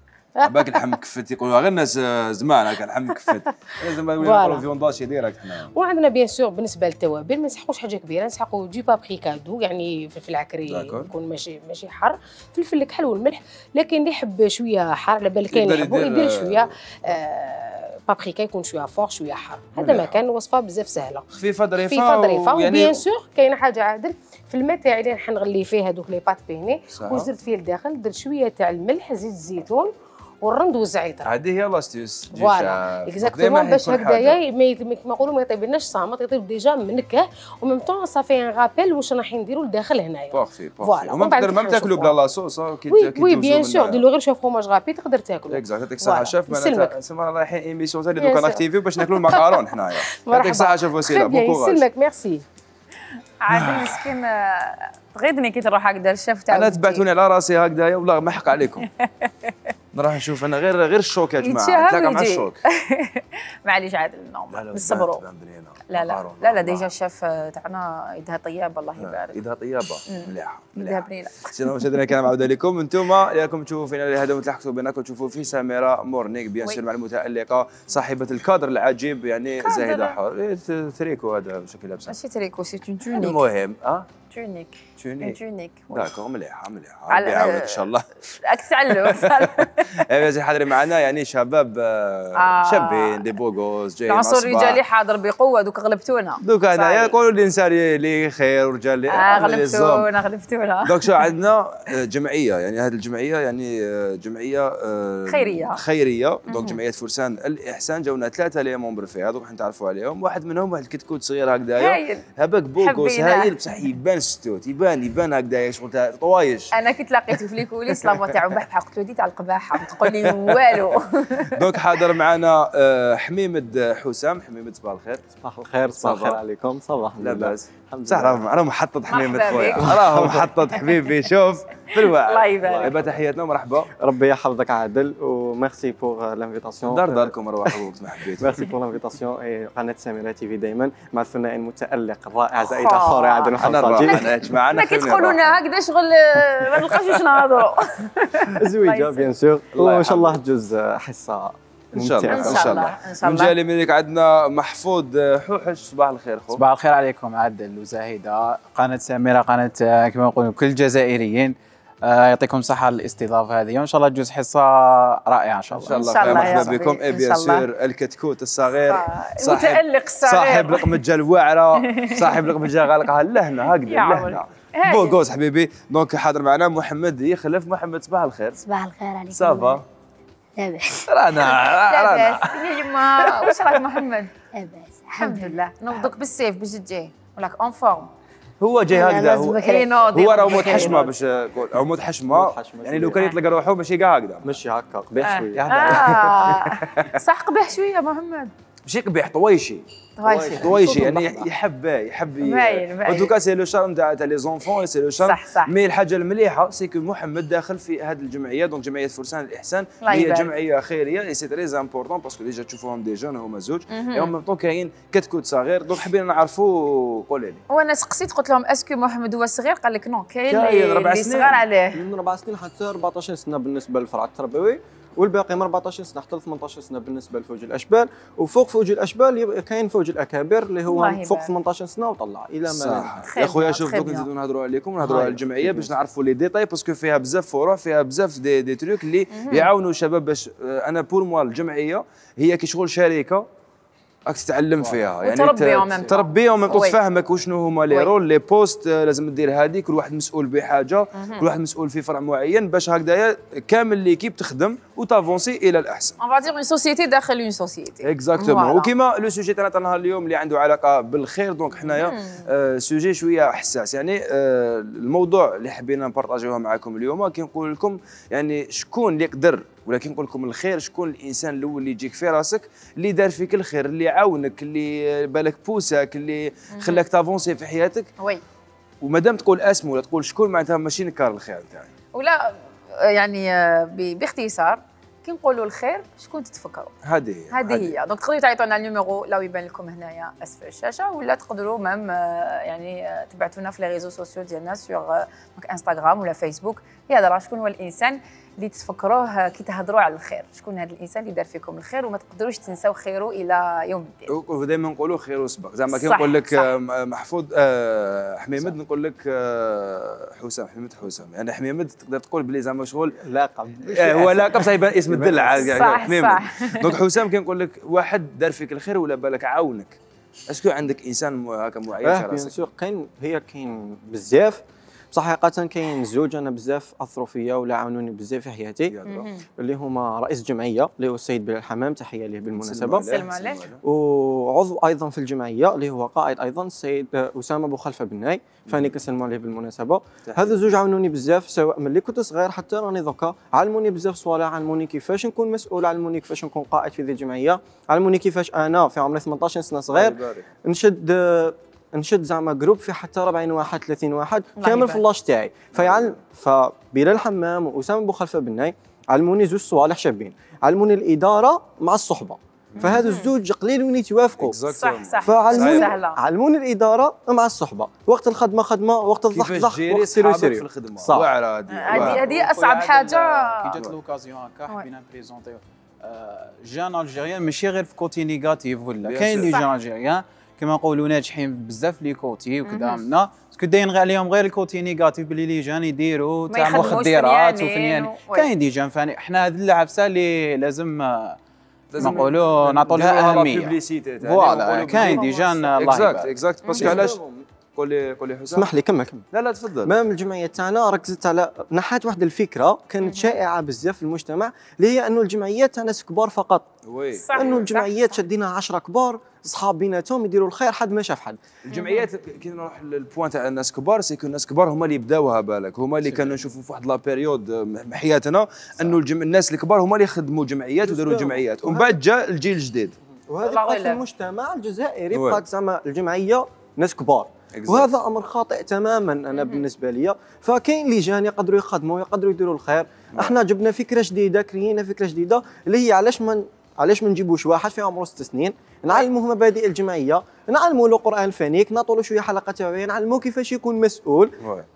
باك اللحم مكفت يقولوا غير الناس زمان هكا اللحم مكفت لازم نقولوا فيونداشي ديريكت هنا. وعندنا بيان سور بالنسبه للتوابل ما نسحقوش حاجه كبيره نسحقوا دو بابريكا دو يعني فلفل عكري يكون ماشي ماشي حار فلفل الكحل والملح لكن اللي يحب شويه حار على بالك كاين يحبوا يدير شويه آه بابريكا يكون شويه فور شويه حار. هذا ما كان وصفه بزاف سهله خفيفه ظريفه خفيفه ظريفه وبيان سور كاينه حاجه عادل في الماء تاعي اللي راح نغلي فيه هذوك لي بات بيني واش درت فيه لداخل درت شويه تاع الملح زيت الزيتون والرند والزعتر. هذه هي لاستيوس فوالا اكزاكتومون باش هكذايا كيما نقولوا ما يطيبلناش صامت يطيب ديجا منكه وميم طون صافي ان رابيل واش راح نديروا لداخل هنايا. بارفي بارفي ومن تقدر ما تاكلوا بلا لاصوص كي وي وي بيان سور ديروا غير شويه فروماج غابي تقدر تاكلوا. اكزاكت يعطيك الصحه شاف معناتها سما رايحين ايميسيون ثاني دوكا ناكتيفيو باش ناكلوا المعكرون حنايا. يعطيك الصحه شوف وسيله بون كوراج. يسلمك ميرسي. عادل مسكين تغيظني كي تروح هكذا الشاف تاعو. انا تبعتوني على راسي هكذايا والله ما حق عليكم. نروح نشوف انا غير غير الشوك يا جماعه نتلاقى مع الشوك. معليش عادل نورمال نصبروا. لا لا لا لا ديجا الشاف تاعنا يدها طياب الله يبارك. يدها طيابه مليحه يدها بنينه. سينا مشاهدينا الكرام عوده لكم انتم راكم تشوفوا فينا هذا وتلحقوا بينكم تشوفوا في سميره مورنيك بيان سور مع المتالقه صاحبه الكادر العجيب يعني زاهده حور تريكو هذا شكل لابسه ماشي تريكو سي اون تونيك المهم اه تونيك تونيك تونيك داكور مليحه مليحه ربي يعاونك ان شاء الله. راك تعلم. ايوا حاضرين معنا يعني شباب شابين دي بوغوز جايين العنصر الرجالي حاضر بقوه دوك غلبتونا دوك هنايا يقولوا الانسان اللي خير ورجال اللي اه غلبتونا غلبتونا. دوك شو عندنا جمعيه يعني هذه الجمعيه يعني جمعيه خيريه خيريه دونك جمعيه فرسان الاحسان جاونا ثلاثه لي مومبر فيها دوك نتعرفوا عليهم. واحد منهم واحد الكتكوت صغير هكذايا هباك بوغوس هايل بصح يبان ستوت يبان يبان هكذايا شغل طوايش. انا كنت لقيته في ليكوليس لافوا تاعو بحبح قلت له دي تاع القباحه ما تقول لي والو. دونك حاضر معنا حميمد حسام. حميمد صباح الخير. صباح الخير صباح الخير عليكم. صباح لاباس صح راه محطط حميمد خويا راه محطط حبيبي شوف في الواعي. الله يبارك. تحياتنا ومرحبا. ربي يحفظك عادل وميرسي بوغ لانفيتاسيون. دار داركم روحوا وقت ما حبيتوا. ميرسي بوغ لانفيتاسيون. قناه سميرة تي في دايما مع الثنائي المتالق الرائع زايد خوري عادل وحمصاجي. معنا كي تقولوا لنا هكذا شغل ما نلقاوش واش نهضروا. زويجه بيان سور وان شاء الله تجوز حصه ان شاء الله ان شاء الله. من جالي منك عندنا محفوظ حوحش. صباح الخير خو. صباح الخير عليكم عادل وزاهده. قناه سميرة قناه كما نقولوا كل الجزائريين يعطيكم الصحه الاستضافه هذه وان شاء الله تجوز حصه رائعه ان شاء الله. ان شاء الله مرحبا بكم. اي بيان سور الكتكوت الصغير المتالق الصغير صاحب لقمه الواعره صاحب لقمه غالقها لهنا هكذا لهنا بوغوز حبيبي. دونك حاضر معنا محمد يخلف. محمد صباح الخير. صباح الخير عليكم. صافا لاباس رانا رانا يا يما واش راك محمد؟ لاباس الحمد لله. نوضك بالسيف باش تجي ولاك اون فورم. هو جاي هكذا هو هو راه مود حشمه باش نقول مود حشمه يعني لو كان يطلق روحه ماشي كاع هكذا ماشي هكا قبيح شويه. صح قبيح شويه محمد ماشي قبيح طويشي طويشي طويشي يعني يحب يحب ان توكا سي لو شارم تاع لي زونفون سي لو شارم. مي الحاجه المليحه سي كو محمد داخل في هذه الجمعيه دونك جمعيه فرسان الاحسان هي جمعيه خيريه اي سي تري امبورطون باسكو ديجا تشوفوهم دي جون هما زوج اي اون ميم طون كاين كتكوت صغير دونك حبينا نعرفوا. قولي لي. وانا سقسيت قلت لهم اسكو محمد هو صغير قال لك نو كاين اللي صغار عليه من أربع سنين حتى أربعطاش سنه بالنسبه للفرع التربوي والباقي من أربعطاش سنه حتى ثمنطاش سنه بالنسبه لفوج الاشبال. وفوق فوج الاشبال كاين فوج الاكابر اللي هو فوق ثمنطاش سنه وطلع الى ما صح. يا خويا شوف دوك نزيدو نهضروا عليكم ونهضروا على الجمعيه باش نعرفوا لي ديتاي باسكو فيها بزاف فروع فيها بزاف دي, دي تروك اللي يعاونوا الشباب باش انا بور موا الجمعيه هي كي شغل شركه راك تتعلم فيها يعني تربيهم تربيهم تفهمك وشنو هما لي رول لي بوست لازم دير هذه كل واحد مسؤول بحاجه كل واحد مسؤول في فرع معين باش هكذايا كامل ليكيب تخدم وتافونسي الى الاحسن. اون فادير اون سوسيتي داخل اون سوسيتي اكزاكتومون. وكيما لو سوجي تاعنا تاع نهار اليوم اللي عنده علاقه بالخير دونك حنايا آه سوجي شويه حساس يعني آه الموضوع اللي حبينا نبارطاجيوه معكم اليوم كي نقول لكم يعني شكون اللي يقدر ولكن نقول لكم الخير شكون الانسان الاول اللي يجيك في راسك اللي دار فيك الخير اللي عاونك اللي بالك بوسك اللي خلاك تافونسي في حياتك. وي ومادام تقول اسمه ولا تقول شكون معناتها ماشي نكار الخير تاعي ولا يعني باختصار كي نقولوا الخير شكون تتفكروا؟ هذه هي هذه هي دونك تقدروا تعيطونا النيميرو لو يبان لكم هنايا اسفل الشاشه ولا تقدروا مام يعني تبعتونا في لي ريزو سوسيو ديالنا سور انستغرام ولا فيسبوك. يهضر شكون هو الانسان اللي تفكروه كي تهضروا على الخير شكون هذا الانسان اللي دار فيكم الخير وما تقدروش تنساو خيره الى يوم الدين. ودائما نقولوا خير سبق زعما كي نقول لك محفوظ آه حميمد نقول لك آه حسام حميمد حسام يعني حميمد تقدر تقول بلي زعما شغل لاقب آه هو لاقب صايب اسم الدلع حميمد. دونك حسام كي نقول لك واحد دار فيك الخير ولا بالك عاونك اسكو عندك انسان هكا معين في راسك؟ بيان سور كاين هي كاين بزاف بصح حقيقه كاين زوج انا بزاف اثروا فيا ولا عاونوني بزاف في حياتي اللي هما رئيس الجمعيه اللي هو السيد بلال الحمام تحيه ليه بالمناسبه سلم عليه وعضو ايضا في الجمعيه اللي هو قائد ايضا السيد اسامه بوخلفه بناي فاني كنسلم عليه بالمناسبه. هذا الزوج عاونوني بزاف سواء ملي كنت صغير حتى راني دوكا علموني بزاف صوالح علموني كيفاش نكون مسؤول علموني كيفاش نكون قائد في ذي الجمعيه علموني كيفاش انا في عمري ثمنطاش سنه صغير نشد نشد زعما جروب في حتى أربعين واحد ثلاثين واحد كامل في اللاش تاعي فيعلم فبلال الحمام واسامه بوخلفه بناي علموني زوج صوالح شابين علموني الاداره مع الصحبه فهذا الزوج قليل وين يتوافقوا صح صح فعلموني علموني الاداره مع الصحبه وقت الخدمه خدمه وقت الضحك وقت سيرو سيرو في الخدمه واعره هذه هذه اصعب حاجه كي جات لوكازيون هكا حبينا نبريزونتيو جان الجيريان ماشي غير في كوتي نيجاتيف ولا كاين لي جان الجيريان كما نقولوا ناجحين بزاف لي كوتي وكذا منا باسكو داين عليهم غير الكوتي نيجاتيف باللي لي جان يديروا تاع مخدرات وفنيان كاين دي جان فاني حنا هذه العفسه اللي لازم نقولوا نعطوا لها اهميه فوالا كاين دي جان الله يبارك اكزاكت اكزاكت باسكو علاش قول لي قول لي حسام اسمح لي كمل كمل لا لا تفضل مام الجمعيه تاعنا ركزت على نحات واحد الفكره كانت شائعه بزاف في المجتمع اللي هي انه الجمعيات تاع ناس كبار فقط وي انه الجمعيات شدينا عشرة كبار صحاب بيناتهم يديروا الخير حد ما شاف حد الجمعيات كي نروح للبوان تاع الناس كبار سيكون الناس كبار هما اللي بداوها بالك هما اللي كانوا نشوفوا في واحد لا بيريود حياتنا انه الجم... الناس الكبار هما اللي خدموا جمعيات وداروا جمعيات ومن بعد جاء الجيل الجديد وهذا بقى في المجتمع الجزائري بقات زعما الجمعيه ناس كبار وهذا امر خاطئ تماما انا بالنسبه لي فكاين لجان يقدروا يخدموا يقدروا يديروا الخير احنا جبنا فكره جديده كرينا فكره جديده اللي هي علاش ما علاش ما نجيبوش واحد في عمره ست سنين نعلموه مبادئ الجمعيه نعلموا له قران فنيك نعطوا له شويه حلقه توعيه نعلموه كيفاش يكون مسؤول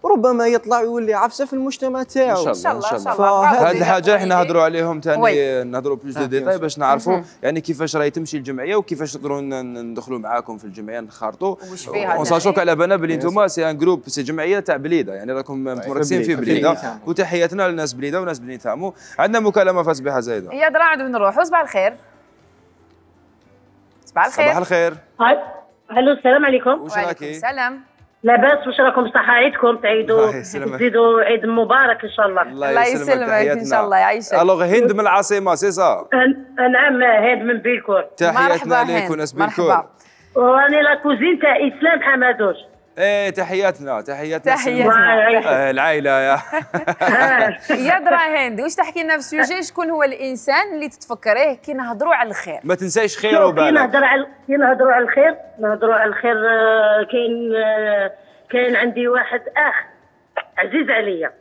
ربما يطلع ويولي عفسه في المجتمع تاعو ان شاء الله ان شاء الله هذه الحاجه احنا نهضروا عليهم ثاني نهضروا بلوس دو ديتاي باش نعرفوا يعني كيفاش راهي تمشي الجمعيه وكيفاش نقدروا ندخلوا معاكم في الجمعيه نخرطوا ونصاشوك على بالنا بلي انتم سي ان جروب سي جمعيه تاع بليده يعني راكم مركزين في بليده وتحياتنا للناس بليده وناس بني تامو عندنا مكالمه في صباح زايده يا درا عاد نروحوا صباح الخير صباح الخير صباح الخير الو السلام عليكم وعليكم السلام لاباس واش راكم صحه عيدكم تعيدوا تزيدوا عيد مبارك ان شاء الله الله يسلمك ان شاء الله يعيشك الوغ هند من العاصمه سي صا نعم هند من بيلكور تحياتنا ليك وناس بيلكور وراني لا كوزين تاع اسلام حمادوش ايه تحياتنا تحياتنا تحياتنا العائله يا يا درا هند واش تحكي لنا في سوجي شكون هو الانسان اللي تتفكريه كي نهضروا على الخير ما تنساش خير وبالك كي نهضروا على كي نهضروا على الخير نهضروا على الخير كاين كاين عندي واحد اخ عزيز عليا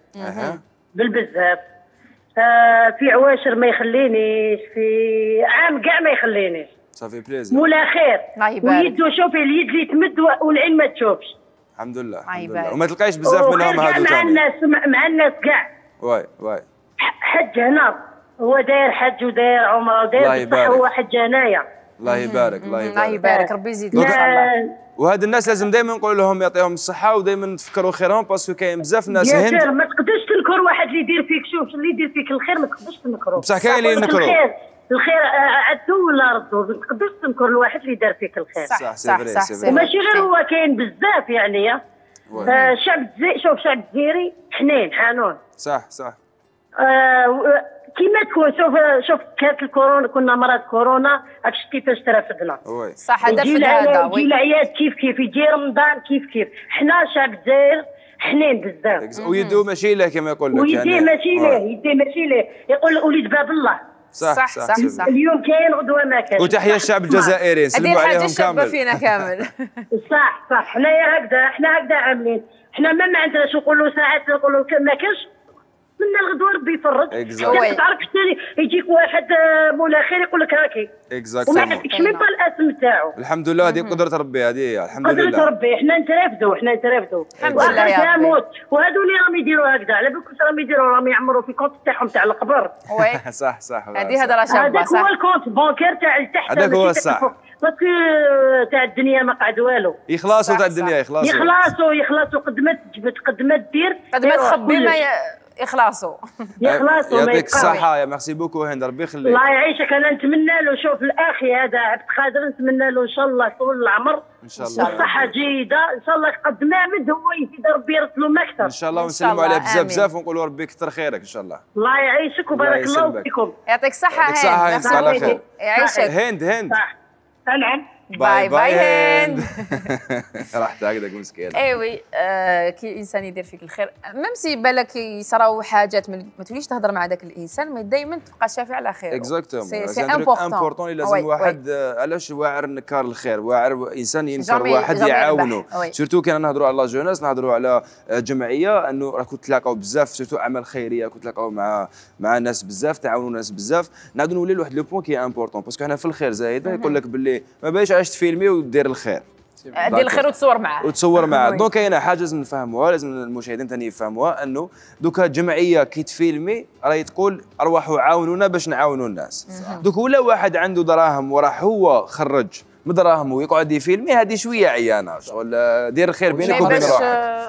بالبزاف في عواشر ما يخلينيش في عام كاع ما يخلينيش صافي بليزير مولا خير ويدو شوفي اليد اللي تمد والعين ما تشوفش الحمد لله الحمد لله وما تلقايش بزاف منهم هادو مع الناس مع الناس كاع واي واي حج هنا هو داير حج وداير عمره وداير بصح هو حج هنايا الله يبارك الله يبارك الله يبارك ربي يزيد ان شاء الله وهاد الناس لازم دائما نقول لهم يعطيهم الصحه ودائما نتفكروا خيرهم باسكو كاين بزاف ناس هند يا ما تقدرش تنكر واحد اللي يدير فيك شوف اللي يدير فيك الخير ما تقدرش تنكرو بصح كاين اللي ينكروا الخير عدو ولا ردو ما تقدرش تنكر الواحد اللي دار فيك الخير صح صح صح, صح وماشي غير هو كاين بزاف يعني الشعب الجزائري شوف الشعب الجزائري حنين حنون صح صح آه كيما تكون شوف شوف كانت الكورونا كنا مرض كورونا عرفتش كيفاش ترافدنا صح هذا في هذا يجي العياد كيف كيف يجي رمضان كيف كيف حنا شعب الجزائر حنين بزاف ويدو ماشي له كما يقول لك ويدي يعني ماشي له يدي ماشي له يقول وليد باب الله صح صح صح, صح, صح. اليوم كاين غدوه ما كاين وتحيه الشعب الجزائري نسلموا عليهم كامل هذه فينا كامل صح صح حنايا هكذا حنا هكذا عاملين حنا ما ما عندناش نقولوا ساعات نقولوا ما كاينش منا الغدوه ربي يفرج ما تعرفش يجيك واحد مولا خير يقول لك هاكي وما عندكش ميم با الاسم تاعو الحمد لله هذه قدره ربي هذه الحمد لله قدره ربي حنا نترافدوا حنا نترافدوا الحمد لله يا ربي وهذو اللي راهم يديروا هكذا على بالك راهم يديروا راهم يعمروا في كونت تاعهم تاع القبر وي صح صح هذه هضره شابه هذاك هو الكونت بانكير تاع التحت هذاك هو الصح باسكو تاع الدنيا ما قعد والو يخلصوا تاع الدنيا يخلصوا يخلصوا يخلصوا قد ما تجبد قد ما دير قد ما تخبي ما يخلصوا يخلصوا يعطيك الصحة يا ميرسي بوكو هند ربي يخليك الله يعيشك انا نتمنى له شوف الاخي هذا عبد القادر نتمنى له ان شاء الله طول العمر ان شاء الله والصحة جيدة ان شاء الله قد ما مد هو يزيد ربي يرسلو ما اكثر ان شاء الله ونسلموا عليه بزاف بزاف ونقولوا ربي يكثر خيرك ان شاء الله الله يعيشك وبارك الله فيكم يعطيك الصحة يعطيك الصحة هند على خير يعيشك هند هند نعم باي باي هند راحت هكذاك مسكين ايوي آه كي الانسان يدير فيك الخير ميم سي بالك يصراو حاجات ما توليش تهضر مع ذاك الانسان ما دائما تبقى شافي على خير اكزاكتومون سي امبورطون لازم واحد علاش واعر نكار الخير واعر انسان ينكر واحد يعاونه سورتو كان نهضروا على لا جوناس نهضروا على جمعيه انه راكم تلاقاو بزاف سورتو اعمال خيريه راكم تلاقاو مع مع ناس بزاف تعاونوا ناس بزاف نعاودوا نولي لواحد لو بوين كي امبورطون باسكو حنا في الخير زايده يقول لك باللي ما باش عايش تفيلمي ودير الخير دير الخير وتصور معاه وتصور معاه دونك كاينه حاجه لازم نفهموها لازم المشاهدين ثاني يفهموها انه دوكا جمعيه كي تفيلمي راهي تقول ارواحوا عاونونا باش نعاونوا الناس دوك ولا واحد عنده دراهم وراح هو خرج مدراهم ويقعد يفيلمي هذه شويه عيانه شغل دير الخير بينك وبين روحك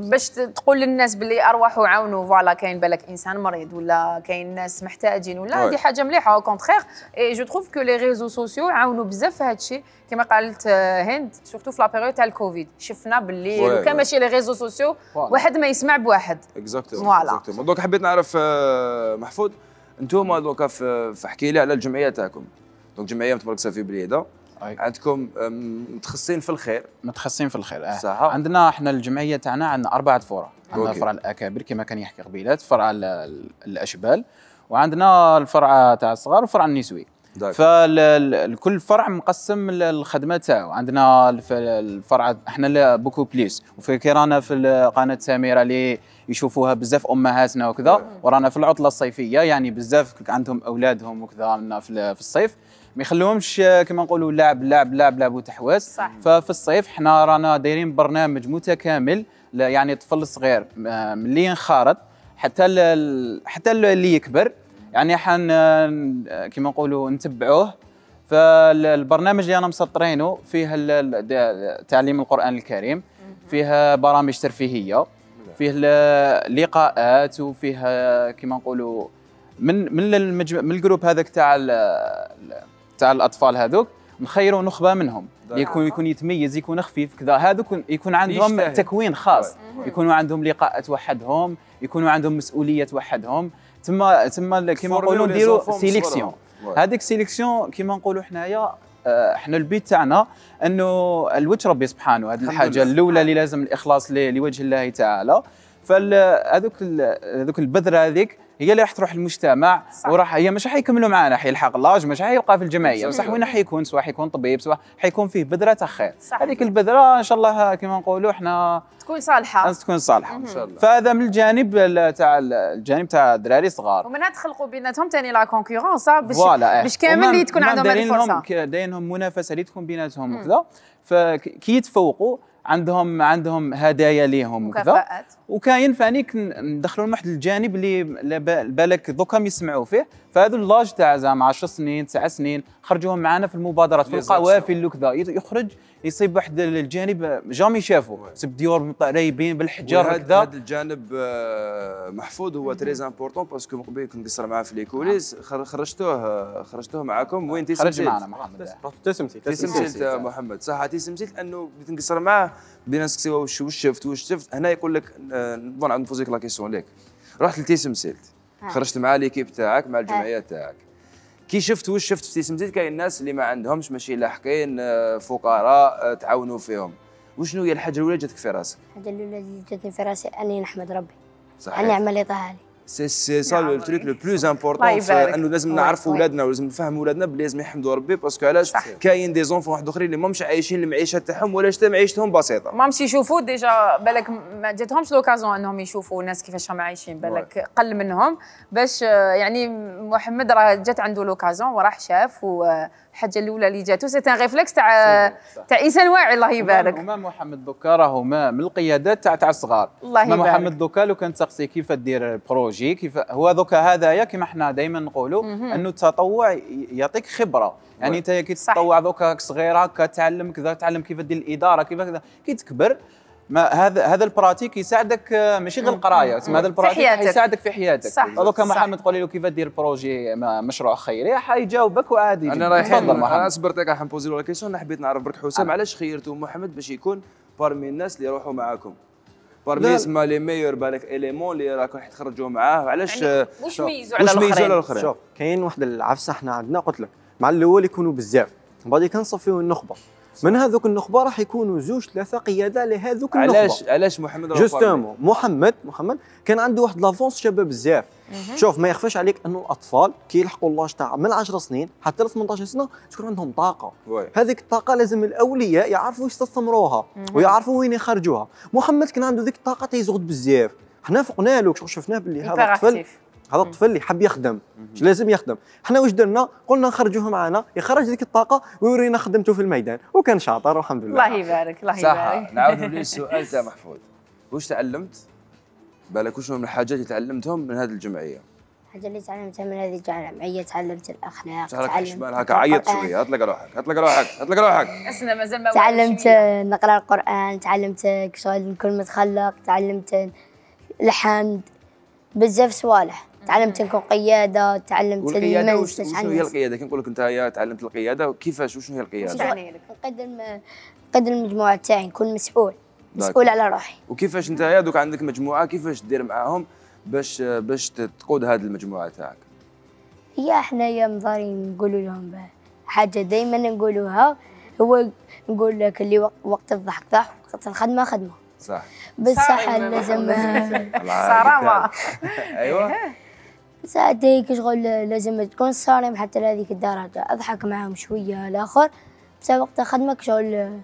باش تقول للناس باللي ارواحوا عاونوا فوالا كاين بالك انسان مريض ولا كاين ناس محتاجين ولا هذه حاجه مليحه او كونترير اي جو تروف كو لي ريزو سوسيو عاونوا بزاف في هذا الشيء كما قالت هند سورتو في لا بيريود تاع الكوفيد شفنا باللي لو كان ماشي لي ريزو سوسيو واحد ما يسمع بواحد اكزاكتومون اكزاكتومون دونك حبيت نعرف محفوظ انتوما دوكا فاحكي لي على الجمعيه تاعكم دونك جمعيه متبارك في بليده عندكم متخصصين في الخير متخصصين في الخير آه. صح عندنا احنا الجمعيه تاعنا عندنا اربعه فروع عندنا فرع الاكابر كما كان يحكي قبيلات فرع الاشبال وعندنا الفرع تاع الصغار وفرع النسوي فالكل فرع مقسم الخدمه تاعو عندنا الفرع احنا بوكو بليس وفي رانا في قناه سميره اللي يشوفوها بزاف امهاتنا وكذا ورانا في العطله الصيفيه يعني بزاف عندهم اولادهم وكذا في الصيف ما يخلوهمش كما نقولوا لعب لعب لعب لعب وتحواس ففي الصيف حنا رانا دايرين برنامج متكامل يعني الطفل الصغير ملي ينخرط حتى حتى اللي يكبر يعني حن كما نقولوا نتبعوه فالبرنامج اللي انا مسطرينه فيه تعليم القران الكريم فيه برامج ترفيهيه فيه لقاءات وفيه كما نقولوا من من المجم... من الجروب هذاك تاع تاع الاطفال هذوك نخيروا نخبه منهم يكون يكون يتميز يكون خفيف كذا هذوك يكون عندهم تكوين خاص يكونوا عندهم لقاءات وحدهم يكونوا عندهم مسؤوليات وحدهم ثم ثم كما نقولوا نديروا سيليكسيون هذيك سيليكسيون كما نقولوا حنايا احنا البيت تاعنا انه الوجه ربي سبحانه هذه الحاجه الاولى اللي لازم الاخلاص لوجه الله تعالى فهذوك هذوك البذره هذيك هي اللي راح تروح للمجتمع وراح هي مش حيكملوا معنا حيلحق لاج مش حيلقى في الجمعيه بصح وين حيكون سواء حيكون طبيب سواء حيكون فيه بذره تاع خير هذيك البذره ان شاء الله كما نقولوا احنا تكون صالحه تكون صالحه ان شاء الله فهذا من الجانب تاع الجانب تاع الدراري الصغار ومنها تخلقوا بيناتهم ثاني لا كونكورونس باش باش كامل اللي تكون عندهم هذه الفرصه دايرينهم منافسه اللي تكون بيناتهم وكذا فكي يتفوقوا عندهم عندهم هدايا ليهم وكذا وكاين فانيك ندخلوا لهم واحد الجانب اللي بالك دوكا يسمعوا فيه فهذا اللاج تاع زعما عشر سنين تسع سنين خرجوهم معنا في المبادرات في القوافل وكذا يخرج يصيب واحد الجانب جامي شافوا سب ديور قريبين بالحجر وكذا هذا الجانب محفوظ هو تري امبورطون باسكو من قبل كنت نقصر معاه في لي كوليس خرجتوه خرجتوه معاكم وين تيسمسيت خرج معنا محمد تيسمسيت تيسمسيت محمد صح تيسمسيت لانه بديت نقصر معاه بدينا نسقسيوه واش شفت واش شفت هنا يقول لك نظن عند نفوزيك لا كيسيون ليك رحت لتيسمسيت خرجت مع ليكيب تاعك مع الجمعيه تاعك كي شفت واش شفت في تيسمسيت كاين الناس اللي ما عندهمش ماشي لاحقين فقراء تعاونوا فيهم وشنو هي الحاجه الاولى جاتك في راسك؟ الحاجه الاولى اللي جاتني في راسي اني نحمد ربي صحيح النعمه اللي طاها لي سي سي سا لو تريك لو بلوز امبورطون انه لازم نعرفوا ولادنا ولازم نفهموا ولادنا بلي لازم يحمدوا ربي باسكو علاش كاين دي زونفون واحد اخرين اللي ماهمش عايشين المعيشه تاعهم ولا حتى معيشتهم بسيطه ماهمش يشوفوا ديجا بالك ما جاتهمش لوكازيون انهم يشوفوا الناس كيفاش راهم عايشين بالك قل منهم باش يعني محمد راه جات عنده لوكازيون وراح شاف والحاجه الاولى اللي جاتو سي ان ريفلكس تاع تاع انسان واعي الله يبارك وما محمد دوكا راهو من القيادات تاع تاع الصغار الله يبارك محمد دوكا لو كان تسقسي كيف دير بروجي كيف هو دوكا هذايا كيما حنا دائما نقولوا انه التطوع يعطيك خبره يعني انت كي تتطوع دوكا صغيره هكا تعلم كذا تعلم كيف دير الاداره كيف كذا كي تكبر ما هذا هذا البراتيك يساعدك ماشي غير القرايه هذا البراتيك يساعدك في حياتك دوكا محمد تقولي له كيف دير بروجي مشروع خيري حيجاوبك وعادي انا رايحين انا صبرت لك حنبوزي له لا كيسيون حبيت نعرف برك حسام علاش خيرتوا محمد باش يكون بارمي الناس اللي يروحوا معاكم بارمي اسما لي ميور بالك اليمون اللي راكم تخرجوا معاه علاش واش ميزوا على الاخرين شوف كاين واحد العفسه حنا عندنا قلت لك مع الاول يكونوا بزاف من بعد كنصفيو النخبه من هذوك النخبه راح يكونوا زوج ثلاثه قياده لهذوك النخبه علاش علاش محمد جوستومون محمد محمد كان عنده واحد لافونس شباب بزاف شوف ما يخفاش عليك انه الاطفال كي يلحقوا اللاج تاع من عشر سنين حتى ل ثمنطاش سنه تكون عندهم طاقه هذيك الطاقه لازم الاولياء يعرفوا يستثمروها ويعرفوا وين يخرجوها محمد كان عنده ذيك الطاقه تيزغد بزاف حنا فقنا له شفناه باللي هذا الطفل هذا الطفل اللي حب يخدم لازم يخدم حنا واش درنا قلنا نخرجوه معنا يخرج ديك الطاقه ويورينا خدمته في الميدان وكان شاطر والحمد لله الله يبارك الله يبارك صح نعاودوا للسؤال تاع محفوظ واش تعلمت بالك واش من الحاجات اللي تعلمتهم من هذه الجمعيه الحاجه الحاجه اللي تعلمتها من هذه الجامعيه تعلمت الاخلاق. تعلمت هكا عيط شويه، هات لك روحك هات لك روحك هات لك روحك. اسنا مازال ما تعلمت نقرا القران، تعلمت شغل نكون متخلق، تعلمت الحمد، بزاف صوالح. تعلمت نكون قياده، تعلمت القياده. وشنو هي القياده؟ كي نقول لك انت تعلمت القياده كيفاش وشنو هي القياده؟ يعني نقيد نقيد المجموعه تاعي، نكون مسؤول مسؤول على روحي. وكيفاش انت دوك عندك مجموعه كيفاش دير معاهم باش باش تقود هذه المجموعه تاعك؟ هي حنايا مضارين نقولوا لهم حاجه دائما نقولوها، هو نقول لك اللي وقت الضحك ضحك وقت الخدمه خدمه. صح بصح لازم صرامه. ايوه ساعات هيك شغل لازم تكون صارم حتى لهذيك الدرجه، اضحك معاهم شويه الاخر بصح وقت خدمك شغل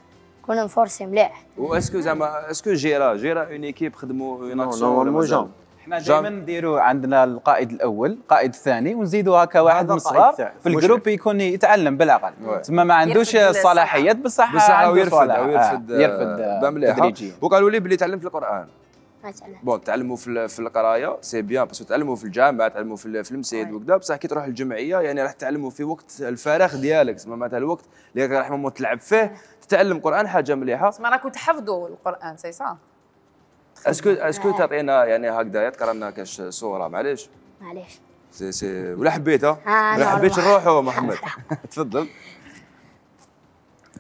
كون نفورسي مليح. واسكو زعما اسكو جيرا جيرا اون ايكيب خدموا يناقشوا؟ احنا دائما نديروا عندنا القائد الاول القائد الثاني ونزيدوا هكا واحد من الصغار في الجروب يكون يتعلم بالعقل، تما ما عندوش الصلاحيات بصح بصح عنده يرفد او يرفد يرفد تدريجيا. وقالوا لي بلي تعلمت القران. مثلا بون تعلموا في في القرايه سي بيان باسكو تعلموا في الجامعه تعلموا في في المسيد وكذا، بصح كي تروح الجمعيه يعني راح تعلموا في وقت الفراغ ديالك، تسمى معناتها الوقت اللي راح ماما تلعب فيه تتعلم قران، حاجه مليحه. تسمى راكم تحفظوا القران سي صح؟ اسكو اسكو تعطينا يعني هكذا تقرا لنا كاش صوره معليش؟ معليش سي سي ولا حبيتها؟ آه ولا حبيتش نروحوا محمد؟ تفضل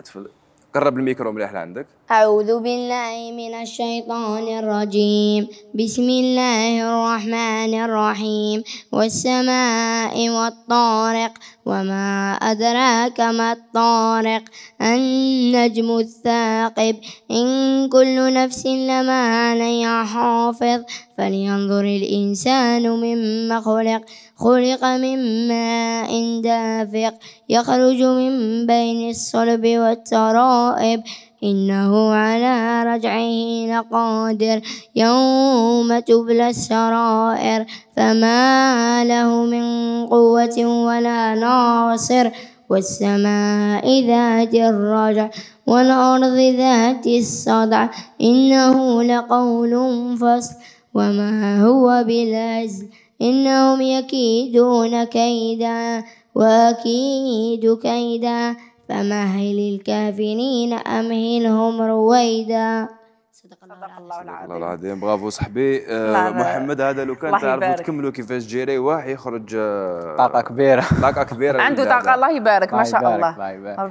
تفضل قرب الميكرو مليح لعندك. أعوذ بالله من الشيطان الرجيم. بسم الله الرحمن الرحيم. والسماء والطارق وما أدراك ما الطارق النجم الثاقب إن كل نفس لما عليها حافظ فلينظر الإنسان مما خلق خلق من ماء دافق يخرج من بين الصلب والترائب إنه على رجعه لقادر يوم تبلى السرائر فما له من قوة ولا ناصر والسماء ذات الرجع والأرض ذات الصدع إنه لقول فصل وما هو بالهزل إنهم يكيدون كيدا وأكيد كيدا فمهل الكافرين أمهلهم رويدا. صدق الله العظيم. الله العظيم برافو صاحبي. آه محمد هذا لو كان تعرفوا تكملوا كيفاش جيري واحد يخرج آه طاقه كبيره طاقه كبيره عنده طاقه الله يبارك ما شاء الله.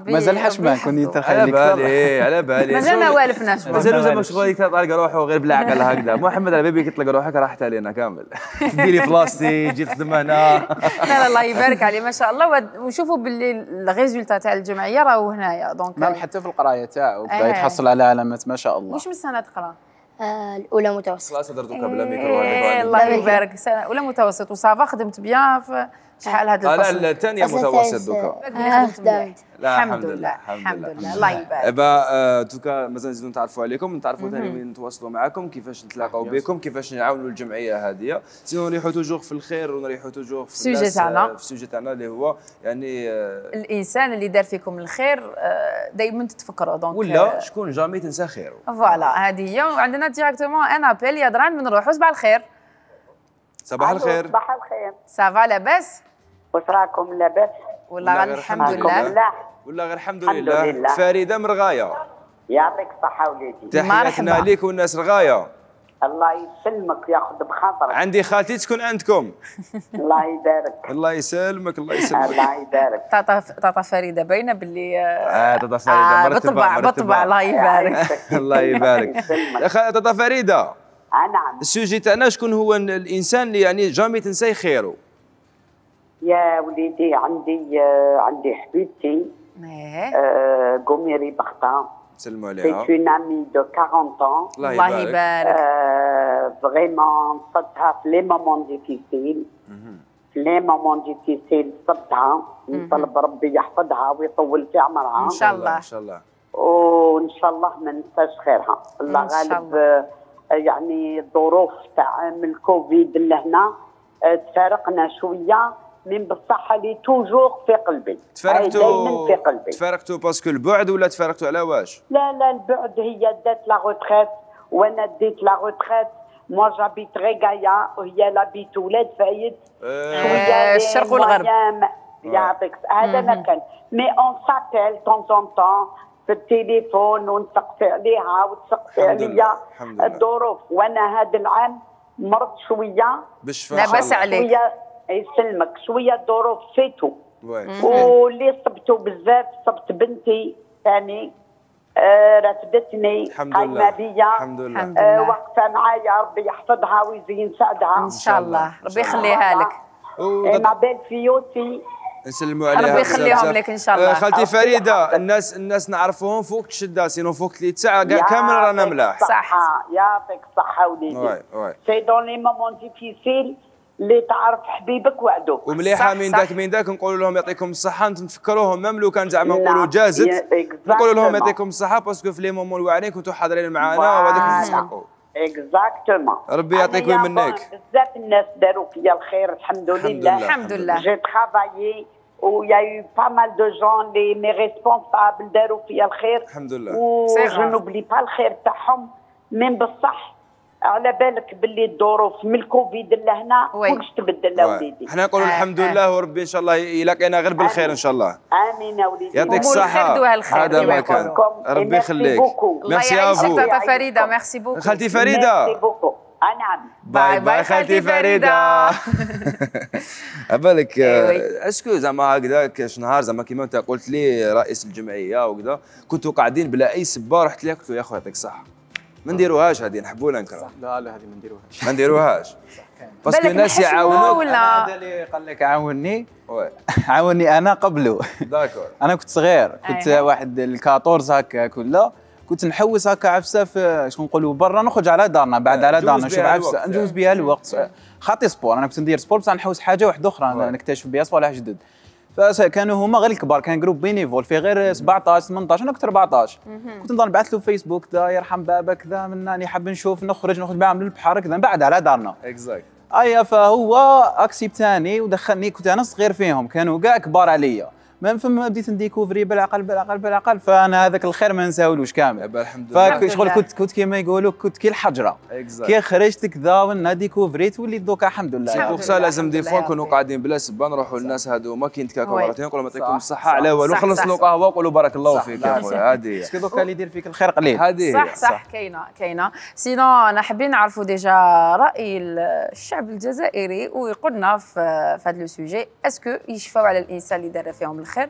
مازال حشمان كنت نتخيل على بالي على بالي مازال ما والفناش مازال زعما شغل يطلق روحه غير بالعقل هكذا. محمد على بيبي كيطلق روحك راحت علينا كامل. ديري فلاستي جيت تخدم هنا. لا لا الله يبارك عليه ما شاء الله. ونشوفوا باللي الريزولتا تاع الجمعيه راهو هنايا دونك مام حتى في القرايه تاعو بدا يتحصل على علامات ما شاء الله. واش من سنه تقرا؟ آه الأولى متوسط. خلاص درتو قبل ميكرو هذاك. الله يبارك سنة أولى متوسط وصافا خدمت بيان في شحال هذا الفصل؟ لا الثانية متوسط دوكا. خدمت الحمد لله الحمد لله الله يبارك. إبا دوكا مازال نزيدو نتعرفوا عليكم نتعرفوا ثاني وين نتواصلوا معكم كيفاش نتلاقاو بكم كيفاش نعاونوا الجمعية هذه. سينو نريحوا توجور في الخير ونريحوا توجور في السوجي تاعنا في السوجي تاعنا اللي هو يعني الإنسان اللي دار فيكم الخير دائما تتفكروا دونك ولا شكون جامي تنسى خيره. فوالا هذه هي. وعندنا ديراكتومون ان ابيل يا دران بنروحوا صباح الخير. صباح الخير. صباح الخير. صافا لاباس؟ واش راكم لاباس؟ والله غير الحمد لله. والله غير الحمد لله. فريده من رغايه. يعطيك الصحه وليدي. تحياتنا ليك والناس رغايه. الله يسلمك ياخذ بخاطرك. عندي خالتي تكون عندكم. الله يبارك. الله يسلمك الله يسلمك. الله يبارك. طاطا طاطا فريده باينه باللي اه طاطا فريده مرتبه بطبع بطبع الله يبارك. الله يبارك. طاطا فريده. نعم. السوجي تاعنا شكون هو الانسان اللي يعني جامي تنساي خيره؟ يا وليدي عندي عندي حبيبتي قميري بختان. سلموا عليها. سي اون امي دو أربعين ans. الله يبارك. فريمون صدتها في لي مومون ديفيسيل. في لي مومون ديفيسيل صدتها نطلب ربي يحفظها ويطول في عمرها. ان شاء الله. ان شاء الله. وان شاء الله ما ننساش خيرها. الله غالب يعني الظروف تاع من الكوفيد اللي هنا تفارقنا شويه من بصح لي توجور في قلبي. تفارقتوا في قلبي. تفارقتوا باسكو البعد ولا تفارقتوا على واش؟ لا لا البعد هي دات لا روتريت وانا ديت لا روتريت موا جابيت غيكايا وهي لابيت ولاد فايد شويه الشرق والغرب يعطيك هذا ما كان مي اون سابيل طون طون طون في التليفون ونسقسي عليها وتسقسي عليا الظروف. وانا هذا العام مرضت شويه لاباس عليك شويه يسلمك شويه الظروف فاتوا واللي صبتوا بزاف صبت بنتي ثاني آه رفدتني قايمه بيا الحمد لله آه واقفه معايا ربي يحفظها ويزين سعدها ان شاء الله ربي يخليها لك مع بال فيوتي نسلموا عليها ربي يخليهم لك ان شاء الله. خالتي فريده الناس الناس نعرفوهم فوق الشده سينو فوق ثلاث ساعه كاع كامل رانا ملاح صح يعطيك الصحه وليدي وي وي سي دون لي مومون ديفيسيل اللي تعرف حبيبك وعدوك ومليحه من ذاك من ذاك نقولوا لهم يعطيكم الصحه نتفكروهم ميم لو كان زعما نقولوا جازت نقولوا لهم يعطيكم الصحه باسكو في لي مومون الواعرين كنتوا حاضرين معنا وهذاك نستحقوا اكزاكتومون. ربي يعطيك ويمنك. بزاف الناس داروا فيا الخير الحمد لله الحمد لله. جي ترافايي و يا يو با مال دو جون لي مي ريسبونسابل داروا فيا الخير الحمد لله. و جو نوبلي با الخير تاعهم من بصح على بالك باللي الظروف من الكوفيد لهنا كلش تبدل وليدي. حنا نقولوا الحمد لله وربي ان شاء الله يلاقينا غير بالخير ان شاء الله. امين يا وليدي. يعطيك الصحة. هذا ما كان. ربي يخليك. ميرسي افو. تاتا فريدة ميرسي بوكو. خالتي فريدة. ميرسي بوكو. نعم. باي باي خالتي فريدة. عبالك اسكو زعما هكذاك نهار زعما كيما انت قلت لي رئيس الجمعية وكذا كنتوا قاعدين بلا اي سبة رحت لك قلت له يا خويا يعطيك الصحة. ما نديروهاش هذه نحبوا ولا نكرهوا؟ لا لا هذه ما نديروهاش ما نديروهاش باسكو الناس يعاونوك. هذا اللي قال لك عاوني عاوني انا قبله. داكور. انا كنت صغير كنت واحد الكاطورز هكا كله كنت نحوس هكا عفسه في شكون نقولوا برا نخرج على دارنا بعد على دارنا نشوف عفسه نجوز بها الوقت خاطي سبور. انا كنت ندير سبور بصح نحوس حاجه واحده اخرى نكتشف بها صوالح جدد. فكانوا هما غير الكبار كان جروب بينيفول فيه غير سبعطاش ثمنطاش انا كنت أربعطاش كنت نضل نبعث له فيسبوك كذا يرحم بابا كذا مناني حاب نشوف نخرج نخرج معاهم للبحر كذا بعد على دارنا اكزاكت. ايا فهو اكسبتاني ودخلني كنت انا صغير فيهم كانوا كاع كبار عليا ما فما بديت نديكوفري بالعقل بالعقل بالعقل فانا هذاك الخير ما نساولوش كامل. الحمد لله. فشغل كنت كنت كيما يقولوا كنت كي الحجره كي خرجت كذا وانا ديكوفريت وليت دوكا الحمد لله. بوغ لازم دي فوا نكونوا قاعدين بلا سبه نروحوا للناس هذوما كي نتكاكوا مرتين نقولوا لهم يعطيكم الصحه على والو خلصنا قهوه وقولوا بارك الله فيك يا خويا. هذه هي باسكو دوكا اللي يدير فيك الخير قليل. هذه صح صح كاينه كاينه. سينو انا حابين نعرفوا ديجا راي الشعب الجزائري ويقولنا في هذا لو سوجي اسكو يشفاو على الانسان اللي دار فيهم الخير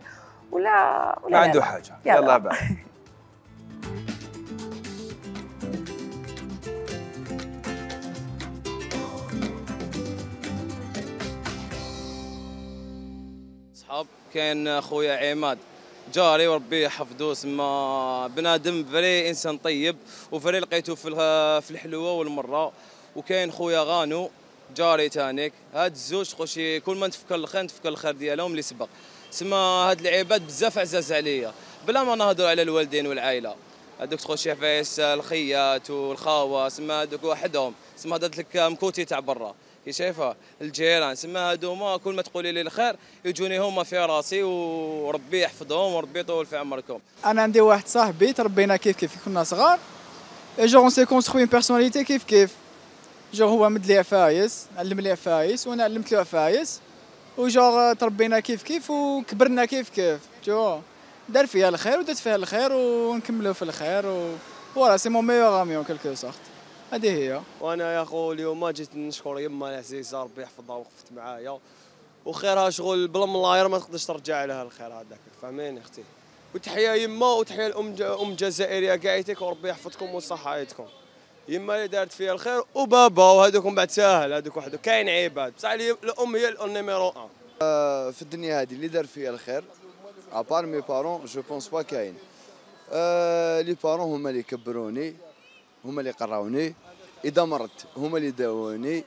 ولا ولا ما عنده حاجه. يلا, يلا بعد. صحاب كاين خويا عماد جاري وربي يحفظو سما بنادم فري انسان طيب وفري لقيتو في في الحلوه والمره. وكاين خويا غانو جاري تانيك هاد الزوج خوشي كل ما نتفكر الخير نتفكر الخير ديالهم اللي سبق سما هاد العباد بزاف عزاز عليا بلا ما نهضروا على الوالدين والعائله. هذوك تخوشي عفايس الخيات والخاوه سما هذوك وحدهم سما هضرت لك مكوتي تاع برا كي شايفه الجيران سما هذوما كل ما تقولي لي الخير يجوني هما في راسي وربي يحفظهم وربي يطول في عمركم. انا عندي واحد صاحبي تربينا كيف كيف كنا صغار جو اون سي كونستروي اون بيرسوناليتي كيف كيف جو هو مد لي عفايس علم لي عفايس وانا علمت له عفايس وجور تربينا كيف كيف وكبرنا كيف كيف جو دار فيها الخير ودرت فيها الخير ونكملوا في الخير و فوالا سي مون ميور امي اون كيلكو سورت. هذه هي. وانا يا خو اليوم جيت نشكر يما العزيزه ربي يحفظها وقفت معايا وخيرها شغل بلا من الله ما تقدرش ترجع لها الخير هذاك فهميني اختي. وتحيه يما وتحيه الام ام الجزائريه كاعيتك وربي يحفظكم وصحايتكم. يما اللي دارت فيها الخير وبابا وهذوكم بعد ساهل هذوك وحدو كاين عباد بصح الام هي النيميرو واحد. آه في الدنيا هذه اللي دار فيها الخير ابار مي بارون جو بونس با كاين. آه لي بارون هما اللي كبروني هما اللي قراوني اذا مرضت هما اللي داووني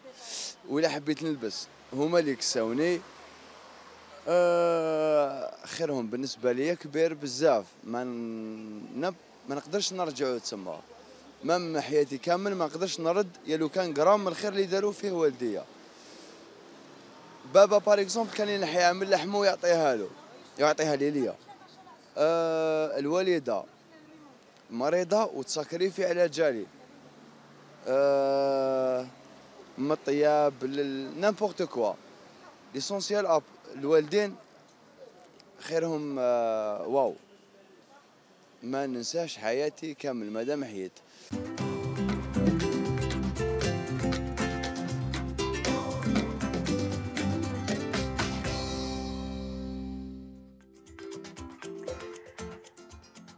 ولا حبيت نلبس هما اللي كساوني. آه خيرهم بالنسبه لي كبير بزاف ما نب ما نقدرش نرجعو تسمى مام حياتي كامل ما نقدرش نرد يا لو كان غرام من الخير اللي داروا فيه والديا. بابا بار اكزومبل كان ينحي عامل لحمه ويعطيها له يعطيها لي ليا. آه الوالده مريضه وتسكريفي على جالي. من الطياب نامبورت كوا. ليسونسيال الوالدين خيرهم واو. ما ننساش حياتي كامل مادام حييت.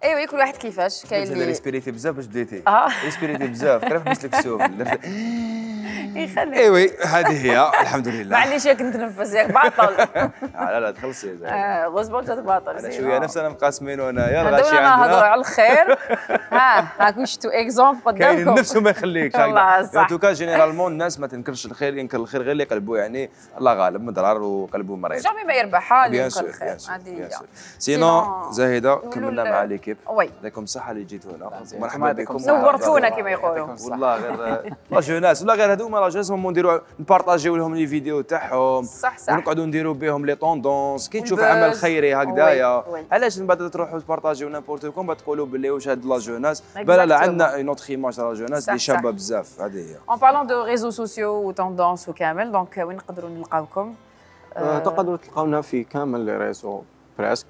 ايوه كل واحد كيفاش كاين اللي ريسبيريتي بزاف باش بديتي اه ريسبيريتي بزاف كيف حبست لك السوق يخليك ايوي هذه هي الحمد لله معليش ياك نتنفس ياك باطل لا لا تخلصي اه غصبا جات باطل انا شويه نفسنا مقاسمين وانايا الغاشي عندنا نهضروا على الخير ها راكم شفتوا اكزومبل قدامكم كاين نفسه ما يخليكش والله صح ان توكا جينيرالمون الناس ما تنكرش الخير ينكر الخير غير اللي قلبه يعني الله غالب مضرار وقلبه مريض جامي ما يربح اللي ينكر الخير هذه سينو زاهده كملنا مع ليكيب وي يعطيكم الصحه اللي جيتوا هنا مرحبا بكم نورتونا كما يقولوا والله غير لا جوناس ولا غير هذوما لا جوناس نديروا نبارطاجيو لهم لي فيديو تاعهم صح صح ونقعدوا نديروا بهم لي طوندونس كي تشوف عمل خيري هكذايا علاش من بعد تروحوا تبارطاجيو نابورت كوم تقولوا باللي واش هاد لا جوناس بلا لا عندنا اون اوتر ايماج لا جوناس اللي شابه بزاف هذه هي اون بارلون دو ريزو سوسيو وطوندونس وكامل دونك وين نقدروا نلقاوكم تقدروا تلقاونا في كامل لي ريزو بريسك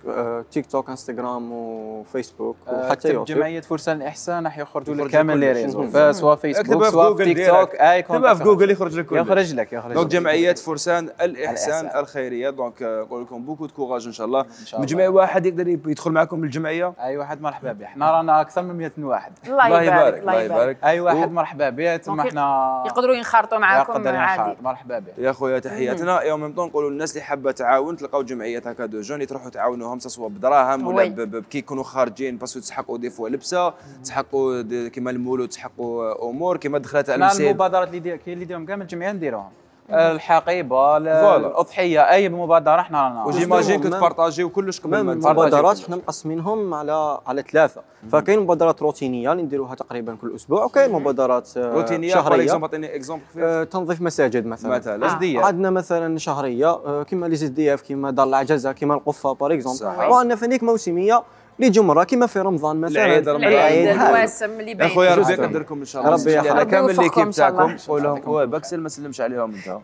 تيك توك انستغرام وفيسبوك وحتى يوتيوب. جمعيه فرسان الاحسان راح يخرجوا لك كامل لي ريزو سواء فيسبوك سواء في تيك توك اي اكتبها في جوجل يخرج لك يخرج لك يخرج لك دونك جمعيه فرسان الاحسان الخيريه دونك نقول لكم بوكو دو كوراج ان شاء الله مجمع واحد يقدر يدخل معكم بالجمعيه اي واحد مرحبا به احنا رانا اكثر من مئة واحد الله يبارك الله يبارك اي واحد مرحبا به ثم احنا يقدروا ينخرطوا معكم عادي مرحبا به يا خويا تحياتنا يوم ميم طون نقولوا للناس اللي حابه تعاون تلقاو جمعيه هكا دو جون تروحوا تعاونوهم سواء بدراهم ولا كي يكونوا خارجين باسكو تسحقوا دي فوا لبسه تسحقوا كيما المولود تسحقوا امور كيما دخلت على المسير المبادرات اللي كاين اللي يديرهم كامل الجمعيه نديروهم الحقيبه الاضحيه اي مبادره احنا رانا وجيماجين كنت بارطاجيو كلش قبل ما المبادرات احنا مقسمينهم على على ثلاثه فكاين مبادرات روتينيه اللي نديروها تقريبا كل اسبوع وكاين مبادرات روتينيه شهريه اعطيني اكزومبل تنظيف مساجد مثلا مثلا آه. عندنا مثلا شهريه كيما لي زد دي اف كيما دار العجزه كيما القفه باغ اكزومبل وعندنا فنيك موسميه اللي تجوا مره كيما في رمضان مثلا العيد العيد الواسم اللي باين اخويا ربي يقدركم ان شاء الله ربي انا كامل ليكيب تاعكم قول لهم باكسل ما سلمش عليهم انت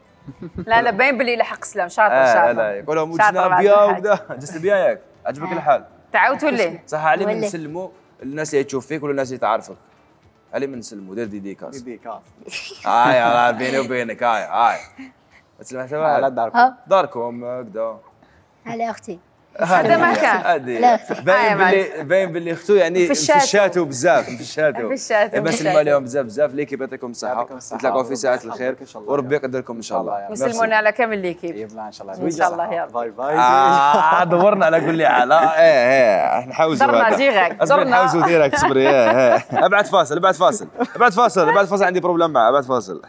لا لا باين باللي لحق سلام شاطر شاطر لا لا يقول لهم وجنا بيا وكذا جست بيا ياك عجبك الحال تعاودتوا ليه صح علي من نسلموا الناس اللي تشوف فيك ولا الناس اللي تعرفك علي من نسلموا دير ديديكاس ديديكاس هاي راه بيني وبينك هاي هاي تسلم حتى على داركم داركم هكذا على اختي هذا ما كان باين باللي باين باللي اختو يعني في الشاتو بزاف في الشاتو في الشاتو نسلموا عليهم بزاف بزاف ليكيب يعطيكم الصحه نتلاقاو في ساعه الخير وربي يقدركم ان شاء الله نسلمونا على كامل ليكيب يبلا ان شاء الله ان شاء الله يا باي باي اه دورنا على قول لي على ايه ايه نحوزوا درنا ديريكت درنا نحوزوا ديريكت صبري ايه ابعد فاصل ابعد فاصل ابعد فاصل ابعد فاصل عندي بروبليم معاه ابعد فاصل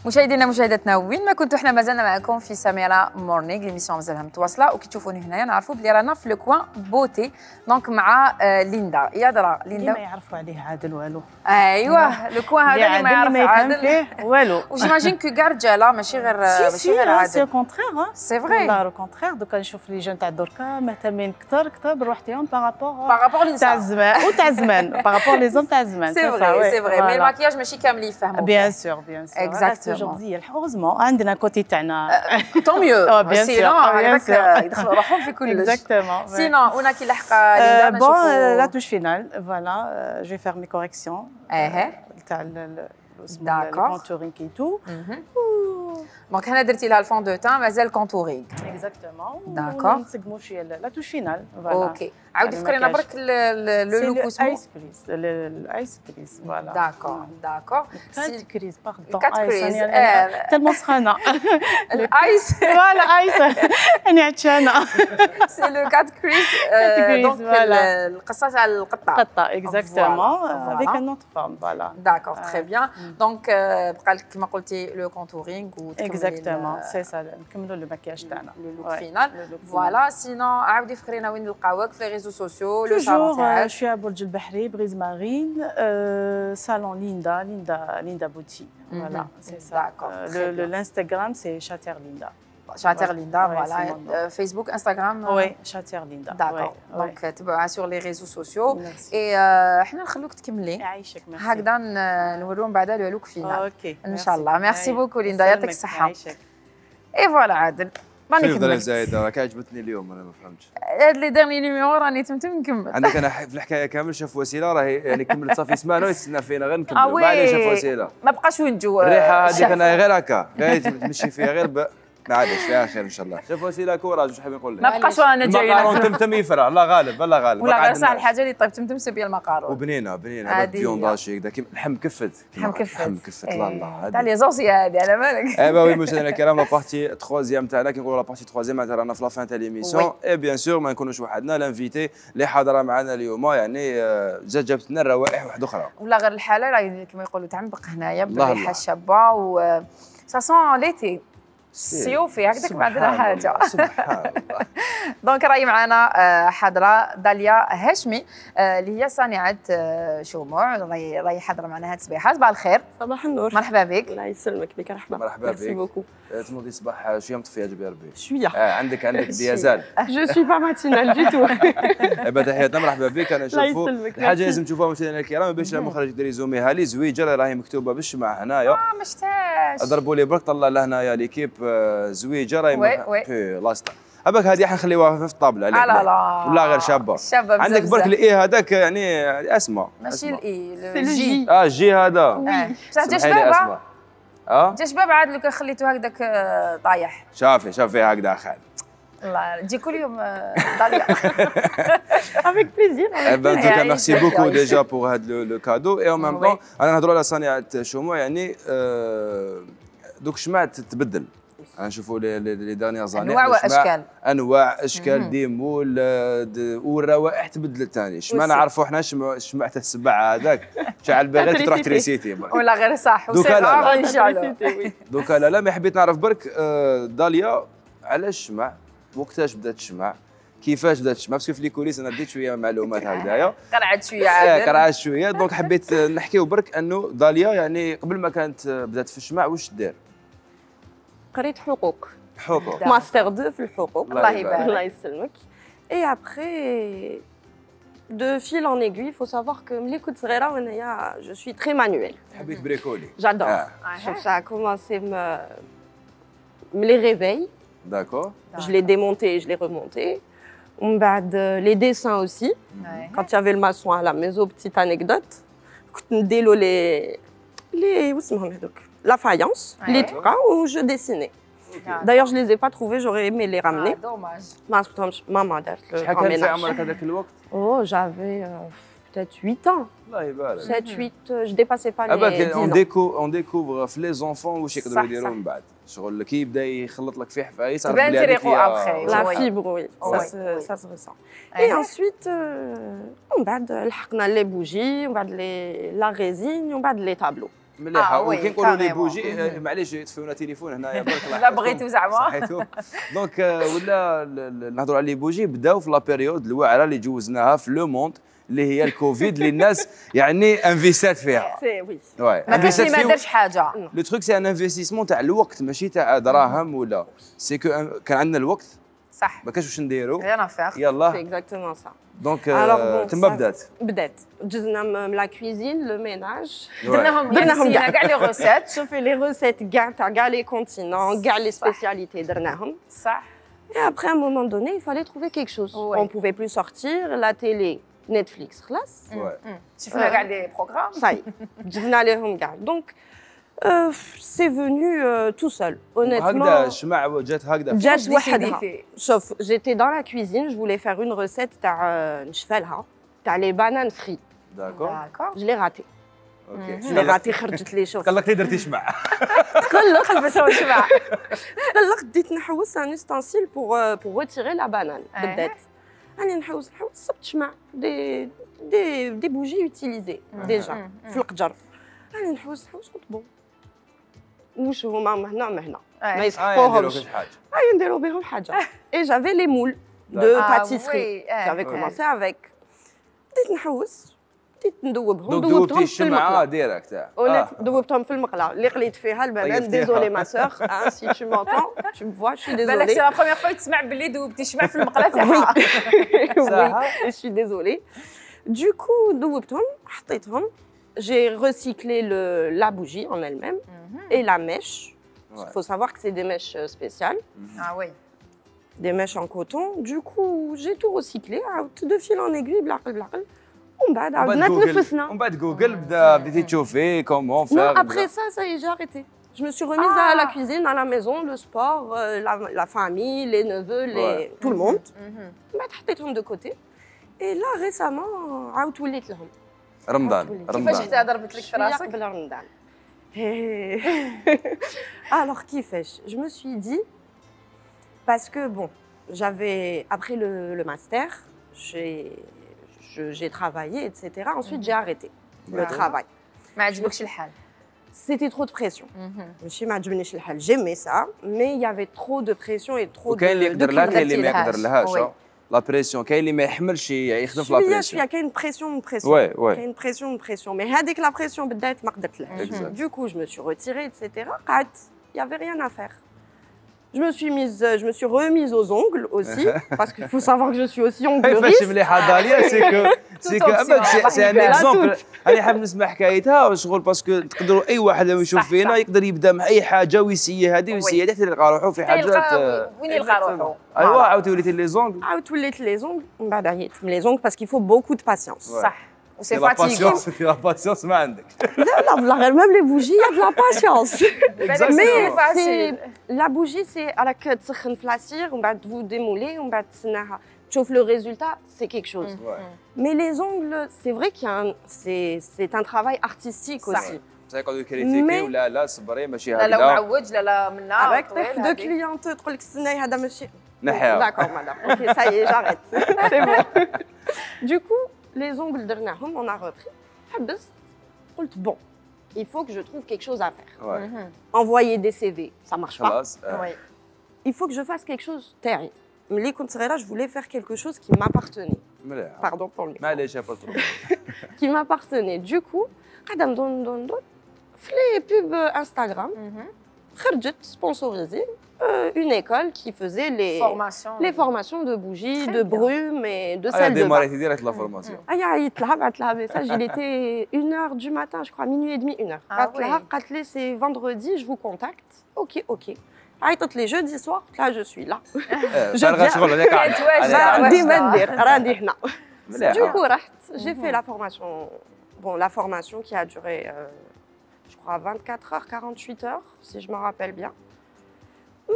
مشاهدينا مشاهداتنا وين ما كنتوا احنا مازلنا معكم في سميرة مورنينغ ليميسيون مازالها متواصله وكي تشوفوني هنايا نعرفوا بلي رانا في لو كوان بوتي دونك مع آه ليندا يا درا ليندا ما يعرفوا عليه عادل والو ايوه لو كوان هذا اللي ما يعرف عادل والو وجيماجين كو كاع رجاله ماشي غير ماشي غير عادل سي كونترير سي فري والله او كونترير دوكا نشوف لي جون تاع دركا مهتمين كثر كثر بروحتهم بارابور بارابور تاع الزمان وتاع الزمان بارابور لي زوم تاع الزمان سي فري سي فري مي الماكياج ماشي كامل يفهموا بيان سور بيان سور اكزاكتومون heureusement عندنا كوتي تاعنا طون ميو سينو هكذاك يدخلوا روحهم في كلش اكزاكتومون سينو هنا كي لحق ليندا نشوفوا لا توش فينال فوالا جو فير مي كوريكسيون اها تاع الكونتورينغ اي تو دونك هنا درتي لها الفون دو تان مازال كونتورينغ اكزاكتومون داكور نسقموا شويه لا توش فينال فوالا اوكي عاودي فكرينا برك لو لوك اسمه ايس كريز الايس كريز فوالا داكور داكور كات كريز باردون كات كريز تالمون سخانه الايس فوالا ايس انا عطشانه سي لو كات كريز دونك القصه تاع القطه قطه اكزاكتومون افيك ان اوتر فورم فوالا داكور تري بيان دونك بقى لك كيما قلتي لو كونتورينغ وتكملي اكزاكتومون سي سا نكملوا لو ماكياج تاعنا لو لوك فينال فوالا. سينون عاودي فكرينا وين نلقاوك في لي ريزو سوسيو لو صالون تاعك. جو سوي برج البحري بريز مارين صالون ليندا ليندا ليندا بوتي فوالا سي سا. الانستغرام سي شاتير ليندا شاتير ليندا فوالا. فيسبوك انستغرام وي شاتير ليندا داكور. دونك تبعوها سور لي ريزو سوسيو اي حنا نخلوك تكملي يعيشك. ميرسي هكذا نوريهم بعدا لو لوك فينال اوكي ان شاء الله. ميرسي بوكو ليندا يعطيك الصحه. اي فوالا عادل راني كملت. كيف زايده راك عجبتني اليوم انا ما فهمتش هاد لي ديرني نيميرو راني تمتم نكمل. عندك انا في الحكايه كامل شاف وسيله راهي يعني كملت صافي سمانه ويتسنى فينا غير نكمل بعدين شاف وسيله ما بقاش وين نجو الريحه هذيك انا غير هكا غير تمشي فيها غير ب... معليش فيها خير ان شاء الله. شوف وسيله كوراج واش حاب نقول لك ما بقاش رانا جايين المقارون تمتم يفرع الله غالب الله غالب ولا غير صح الحاجه اللي طيب تمتم سبيا المقارون وبنينه بنينه هذا فيونداشي هكذا كيما لحم كفت لحم كفت لحم كفت الله الله تاع لي زوسيا هذه على بالك. اي با وي مشاهدينا الكرام لا بارتي تخوازيام تاعنا كي نقولوا لا بارتي تخوازيام معناتها رانا في لا فان تاع ليميسيون اي بيان سور ما نكونوش وحدنا لانفيتي اللي حاضره معنا اليوم يعني جات جابت لنا روائح واحده اخرى ولا غير الحاله راهي كما يقولوا تعمق هنايا بالريحه الشابه و سا سون ليتي سيوفي هكذاك ما عندنا حاجه. سبحان الله. دونك راهي معنا حاضره داليا هاشمي اللي هي صانعه شموع راهي راهي حاضره معنا هاد الصبيحه. صباح الخير. صباح النور. مرحبا بك. الله يسلمك بك. مرحبا. مرحبا بك. ميرسي بوكو. تنوضي الصباح شويه مطفيه جبي ربي. شويه. آه عندك عندك ديازال. جو سوي با ماتينال دي تو. ايوا تحياتنا مرحبا بك. انا نشوفوا الحاجه لازم تشوفوها مشاهدينا الكرام باش المخرج يدير ريزوميها لي زويجه راهي مكتوبه بالشمع هنايا. اه ما شفتهاش. ضربوا لي برك طلع لهنايا ليكيب زويجه راهي وي وي بي لاستا هباك هذه حنخليوها في الطابله لا لا لا ولا غير شابه شابه عندك برك الاي هذاك يعني اسماء ماشي الاي الجي اه الجي هذا بصح جا شباب اه جا شباب عاد لو كان خليتو هكذاك طايح. شافي شافي هكذا خال الله تجي كل يوم داليا. افيك بليزير. ان توكا ميرسي بوكو ديجا بور هذا لو كادو اي اون ميم طون انا نهضروا على صناعه شموع يعني دوك الشمع تتبدل نشوفوا لي دانيير زاني انواع واشكال انواع اشكال ديمول والروائح تبدلت ثاني شمع نعرفوا حنا الشمع تاع السبع هذاك شعل باغي تروح تريسيتي ولا غير صح دوكا ان شاء الله. دوكا لا لا ما حبيت نعرف برك داليا علاش الشمع وقتاش بدات الشمع كيفاش بدات الشمع باسكو في لي كوليس انا ديت شويه معلومات هكذايا قرعت شويه عاد قرعت شويه دونك حبيت نحكيو برك انه داليا يعني قبل ما كانت بدات في الشمع واش دير قريت حقوق حقوق ماستر دو في الحقوق الله يبارك الله يسلمك. اي ابخي de fil en aiguille, il faut savoir que ملي كنت صغيره وانايا je suis très manuelle. حبيت بريكولي. J'adore. Ça a commencé me me les réveils. D'accord. Je l'ai démonté et je l'ai remonté. ومن بعد les dessins aussi. Quand il y avait le maçon à la maison, petite anecdote. كنت نديرو les les واسمهم هذوك la faïence, les tras où je dessinais. D'ailleurs, je les ai pas trouvés, j'aurais aimé les ramener. Ah, dommage. Maman a fait le grand ménage. Oh, j'avais euh, peut-être huit ans. sept, huit, je dépassais pas les dix ans. On découvre, on découvre les enfants واش يقدروا يديروا من بعد. شغل كي يبدا يخلط لك في حفايس تبان تريقو La fibre, oui, ça se, ça se ressent. Et ensuite, on بعد لحقنا les bougies, on بعد les la résine, on بعد les tableaux. مليحه وكي نقولوا لي بوجي معليش يطفيونا تليفون هنايا برك لا بغيتو زعما صحيتو دونك ولا نهضروا على لي بوجي بداو في لا بيريود الواعره اللي جوزناها في لو موند اللي هي الكوفيد اللي الناس يعني انفيستات فيها سي وي ما كانش اللي ما دارش حاجه لو تروك سي ان انفستيسمون تاع الوقت ماشي تاع دراهم ولا سي كو كان عندنا الوقت صح ما كاش واش نديروا ريان افير يلا سي اكزاكتومون سا دونك تما بدات بدات جزنا من لا كويزين لو ميناج درناهم درناهم كاع لي روسيت شوفي لي روسيت كاع تاع كاع لي كونتينون كاع لي سبيسياليتي درناهم صح. Et après, à un moment donné, il fallait trouver quelque chose. Ouais. On ne pouvait plus sortir, la télé, Netflix, خلاص. Ouais. شفنا كاع لي بروغرام. Ça y est, جبنا لهم كاع. Donc, euh, c'est venu euh, tout seul, honnêtement. هكذا الشمع جات هكذا. جات وحدها. شوف, j'étais dans la cuisine, je voulais faire une recette تاع نشفالها, تاع les bananes frites. D'accord. Je l'ai raté. اوكي. Je l'ai raté خرجت لي شوف. قلقتي درتي شمع. تقلق حبسوا شمع. تقلق بديت نحوس ان ستانسيل بور بور ريتيري لا بانان بدات. راني نحوس نحوس صبت شمع دي دي دي بوجي يوتيليزي ديجا في القجر. راني نحوس نحوس قلت بون واش هما مهنا مهنا ما آه يسحقوهمش يديروا حاجه اه يديروا بهم حاجه اي جافي لي مول دو باتيسري جافي كومونسي افيك بديت نحوس بديت ندوبهم دوبتهم في المقله ديريكت تاع دوبتهم في المقله اللي قليت فيها البنات ديزولي ما سور اه سي تو مونتون تو فوا شي ديزولي بالك سي لا بروميير فوا تسمع باللي دوبتي شمع في المقله تاعها وي شي ديزولي دوكو دوبتهم حطيتهم j'ai recyclé le, la bougie en elle-même mm-hmm. et la mèche. Il ouais. faut savoir que c'est des mèches spéciales. Mm-hmm. Ah oui. Des mèches en coton. Du coup, j'ai tout recyclé. De fil en aiguille, blac, blac. On va on va Google, بديتي تشوفي comment faire. Non, après ça, ça y est, j'ai arrêté. Je me suis remise ah. à la cuisine, à la maison, le sport, euh, la, la famille, les neveux, les... Ouais. tout le monde. بعد حطيتهم de côté. Et là, récemment, عاود وليت لهم. رمضان رمضان كيفاش حتى ضربت لك في راسك قبل رمضان alors كيفاش je me suis dit parce que bon j'avais après le, le master j'ai j'ai travaillé etc ensuite j'ai arrêté le travail ما عجبكش الحال c'était trop de pression ماشي ما عجبنيش الحال j'aimais ça mais il y avait trop de pression et trop de وكاين اللي يقدر لها كاين اللي ما يقدر لهاش لا بريسيون كاين اللي ما يحملش يخدم في لا بريسيون شويه كاين بريسيون بريسيون كاين بريسيون بريسيون مي هذيك لا بريسيون بدات ما قدرتلهاش دو كو جو مي سو ريتيري ايتترا قعدت il y avait rien à faire je me suis mise je me suis remise aux ongles aussi parce qu'il faut savoir que je suis aussi ongleriste فاش مليحه داليا سي كو سي كو سي ان اكزومبل انا حاب نسمع حكايتها شغل باسكو تقدروا اي واحد لما يشوف فينا يقدر يبدا مع اي حاجه ويسيي هذه ويسيي هذه حتى يلقى روحه في حاجات وين يلقى روحه ايوا عاود وليتي لي زونغ عاود وليت لي زونغ من بعد عييت من لي زونغ باسكو يفو بوكو دو باسيونس صح وسي فاتيغون سي لا باسيونس ما عندك لا لا والله غير ميم لي بوجي يا لا باسيونس مي لا بوجي سي راك تسخن في لاسير ومن بعد تفو ديمولي ومن بعد تسناها تشوف لو ريزولتا سي كيك شوز مي لي زونغل سي فري كي سي سي ان ترافاي ارتستيك اوسي يقعدوا يكريتيكي ولا لا صبري ماشي هكذا لا لا معوج لا لا منا افيك طيح دو كليونت تقول لك استناي هذا ماشي نحيها داكور مدام اوكي سا يي جاريت سي بون دو كو les ongles درناهم on a repris حبست قلت bon il faut que je trouve quelque chose à faire ouais. envoyer des C V ça marche pas euh. ouais. il faut que je fasse quelque chose تاعي ملي كنت صغيره je voulais faire quelque chose qui m'appartenait pardon pour le micro معليش با trop qui m'appartenait du coup قاعده ندور ندور ندور في لي بوب انستغرام خرجت سبونسوريزي une école qui faisait les formations, les formations de bougies, de brume et de ah, sel de bain. Ah, direct la formation. Ah, il a message, il était une heure du matin, je crois, minuit et demi, une heure. Ah, oui. C'est vendredi, je vous contacte. Ok, ok. Ah, tous les jeudis soirs, là, je suis là. Je viens. Du coup, j'ai fait la formation. Bon, la formation qui a duré, euh, je crois, vingt-quatre heures, quarante-huit heures, si je me rappelle bien.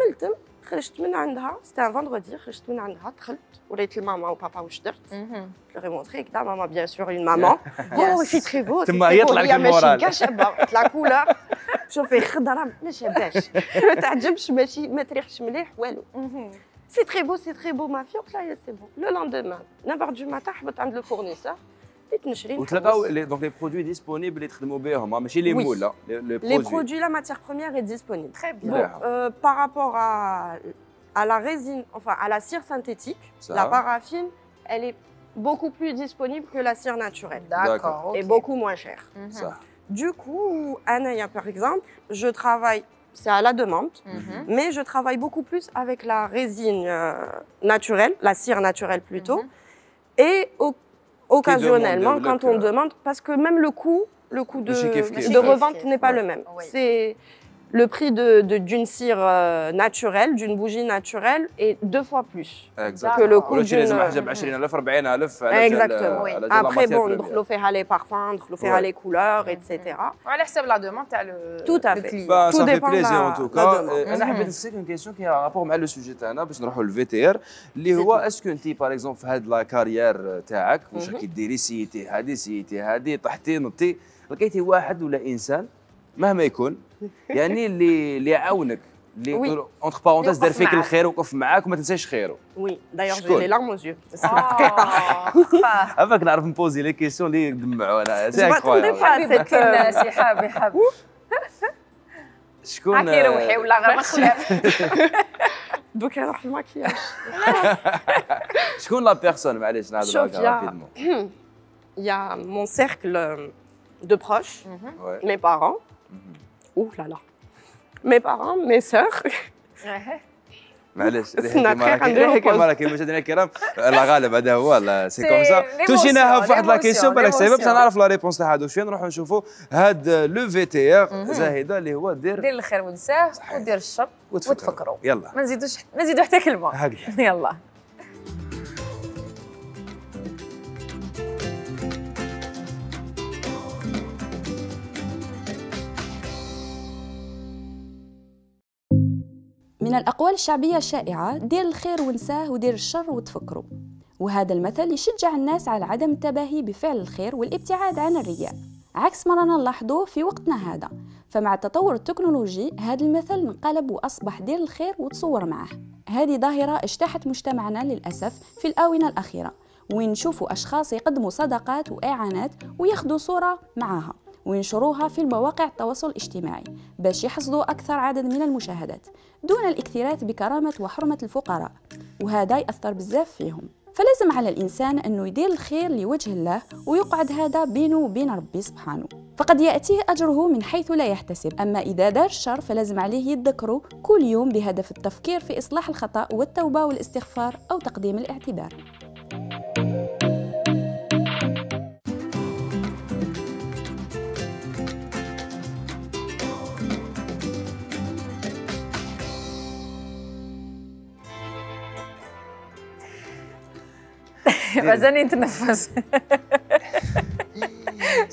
ملتم خرجت من عندها سيتي ان فاندردي خرجت من عندها دخلت وريت لماما وبابا واش درت جو مونطري كدا ماما بيان سور اون ماما او سي تري بو تما يطلع لك المورال ماشي كاع شابه لا كولور شوفي خضره ما شاباش ما تعجبش ماشي ما تريحش مليح والو سي تري بو سي تري بو ما في قلت لها سي بون لو لوندومان neuf heures du matin حبت عند لو فورنيسور بديت نشري وتلقاو دونك لي برودوي ديسپونيبل اللي تخدموا بهم ماشي لي مول لا لي برودوي لا ماتيير بروميير est disponible très bien bon, euh, par rapport à à la résine enfin à la cire synthétique ça. La paraffine elle est beaucoup plus disponible que la cire naturelle d'accord okay. et beaucoup moins chère mm-hmm. ça. Du coup Anaya par exemple je travaille c'est à la demande mm-hmm. mais je travaille beaucoup plus avec la résine euh, naturelle la cire naturelle plutôt mm-hmm. et au occasionnellement quand on demande parce que même le coût le coût de, de revente n'est pas ouais. le même oui. C'est le prix de, de, d'une cire euh, naturelle, d'une bougie naturelle est deux fois plus exactement. Que le coût d'une... Exactement. Oui. Après, bon, on fait les parfums, on fait ouais. les couleurs, et cetera. On laisse la demande, le Tout à fait. Bah, Tout ça dépend fait plaisir la, en tout cas. أنا حبيت نسألك une question qui a rapport مع le sujet تاعنا باش نروحوا للفي تي ار اللي هو اسكو انت باغ اكزومبل في هاد لا كارير تاعك واش راكي ديري سيتي هادي سيتي هادي طحتي نطي لقيتي واحد ولا انسان مهما يكون يعني اللي اللي يعاونك اللي اونتر بارونتيز دار فيك الخير وقف معاك وما تنساش خيره وي دايوغ جي لي لارم اوز يو هذاك نعرف نبوزي لي كيسيون اللي يدمعوا انا سي انكرويابل سي حابي حابي شكون هاكي روحي ولا غير مخلاف دوك نروح الماكياج. شكون لا بيرسون معليش نهضروا هكا رابيدمون. يا مون سيركل دو بروش مي بارون. اوه لا لا مي بارون مي سور. معليش كيما كيما مشاهدينا الكرام الله غالب هذا هو لا سي كوم سا توجيناها في واحد لا كيسيون بالك صعيبه باش نعرف لا ريبونس تاع هادو شويه نروحوا نشوفوا هاد لو في تي ار زاهده اللي هو دير دير الخير ونساه ودير الشر وتفكروا يلا ما نزيدوش ما نزيدو حتى كلمه هكذا يلا. من الأقوال الشعبية الشائعة دير الخير ونساه ودير الشر وتفكروا، وهذا المثل يشجع الناس على عدم التباهي بفعل الخير والابتعاد عن الرياء، عكس ما رانا نلاحظوه في وقتنا هذا. فمع التطور التكنولوجي هذا المثل انقلب وأصبح دير الخير وتصور معه. هذه ظاهرة اجتاحت مجتمعنا للأسف في الآونة الأخيرة، وين نشوفوا أشخاص يقدموا صدقات وإعانات وياخذوا صورة معها وينشروها في المواقع التواصل الاجتماعي باش يحصدوا أكثر عدد من المشاهدات دون الاكتراث بكرامة وحرمة الفقراء، وهذا يأثر بزاف فيهم. فلازم على الإنسان أنه يدير الخير لوجه الله ويقعد هذا بينه وبين ربي سبحانه، فقد يأتيه أجره من حيث لا يحتسب. أما إذا دار الشر فلازم عليه يذكره كل يوم بهدف التفكير في إصلاح الخطأ والتوبة والاستغفار أو تقديم الاعتذار. مازالني نتنفس.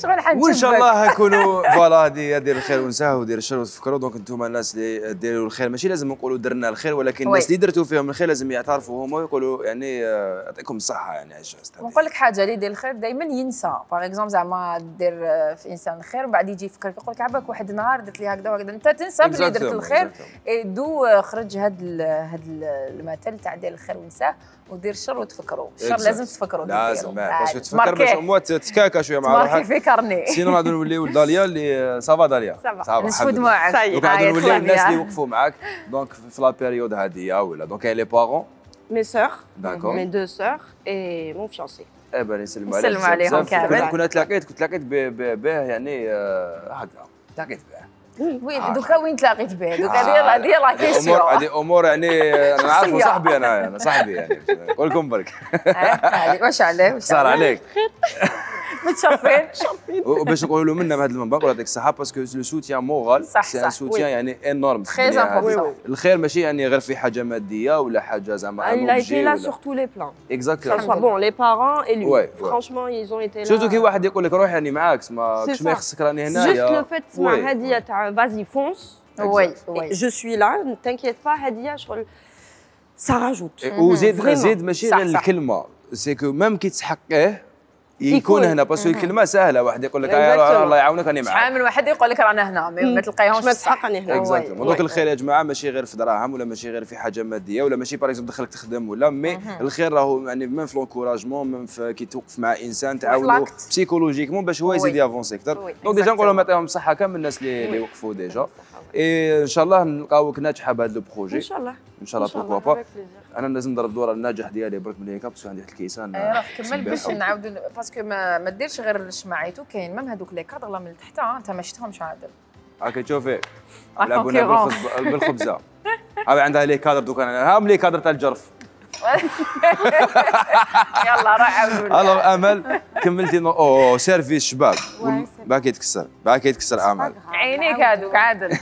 شغل حنشبك وان شاء الله نكونوا فوالا هذه دير الخير ونساه ودير الشر وتفكروا. دونك انتم الناس اللي ديروا الخير ماشي لازم نقولوا درنا الخير، ولكن الناس اللي درتوا فيهم الخير لازم يعترفوا هما ويقولوا يعني يعطيكم الصحه. يعني عايشه نقول لك حاجه اللي يدير الخير دائما ينسى. باغ اكزومبل زعما دير في انسان الخير وبعد يجي يفكر يقول لك عباك واحد النهار درت لي هكذا وهكذا، انت تنسى بلي درت الخير. دو خرج هذا هذا المثل تاع دير الخير ونساه ودير الشر وتفكروا. الشر لازم تفكروا لازم باش تفكر باش اموات تتكاكا شويه مع روحك في كارني. سينو غادي نوليو لداليا اللي صافا داليا صافا نشفوا دموعك. دونك غادي نوليو الناس اللي وقفوا معاك دونك في لا بيريود هذه ولا دونك لي بارون مي سور داكور مي دو سور اي مون فيونسي. اي بان يسلموا عليك. نسلموا عليهم كامل. كنا تلاقيت كنت تلاقيت به يعني هكذا تلاقيت به. وين دوكا وين تلاقيت به؟ دوكا هذه هذه لا كيسيون. هذه امور يعني انا نعرفوا صاحبي انا انا صاحبي يعني نقول لكم برك. واش عليه؟ صار عليك؟ متشرفين شرفين. وباش نقولوا له منا بهذا المنبر الله يعطيك الصحه باسكو لو سوتيان مورال سي ان سوتيان يعني انورم. الخير ماشي يعني غير في حاجه ماديه ولا حاجه زعما il a été là sur tous les plans. Exactement. Ça soit bon les parents et lui. Franchement ils ont été là. surtout كي واحد يقول لك روح يعني معاك ما كش ما يخصك راني هنايا. juste le fait تسمع هديه تاع vas-y fonce. Oui, je suis là ne t'inquiète pas هديه شغل ça rajoute. وزيد زيد ماشي غير الكلمه سي كو ميم كي تحقيه يكون هنا باسكو الكلمه سهله. واحد يقول لك الله يعاونك راني معاك. شحال من واحد يقول لك رانا هنا ما تلقايهمش ما تحق راني هنا. اكزاكتومون. دونك الخير يا جماعه ماشي غير في دراهم ولا ماشي غير في حاجه ماديه ولا ماشي باغ اكزومبل دخلك تخدم ولا مي الخير راهو يعني ميم في لونكوراجمون ميم في كي توقف مع انسان تعاونو بسيكولوجيكمون باش هو يزيد يافونسي اكثر. دونك ديجا نقول لهم يعطيهم الصحه كامل الناس اللي اللي وقفوا ديجا. اي ان شاء الله نلقاوك ناجحه بهذا لو بروجي. ان شاء الله ان شاء الله بوركوا با. انا لازم نضرب الدور الناجح ديالي برك من هيك باسكو عندي واحد الكيسان. اي روح كمل باش نعاودوا باسكو ما, ما ديرش غير الشماعيتو كاين ميم هذوك لي كادر من التحت انت ما شفتهمش عادل. هاكا تشوفي لعبونا بالخبزه. هاي عندها لي كادر دوك انا هام لي كادر تاع الجرف. يلا روح عاودوا. الو امل كملتي اوه سيرفيس شباب باكي يتكسر باكي يتكسر امل. عينيك هذوك عادل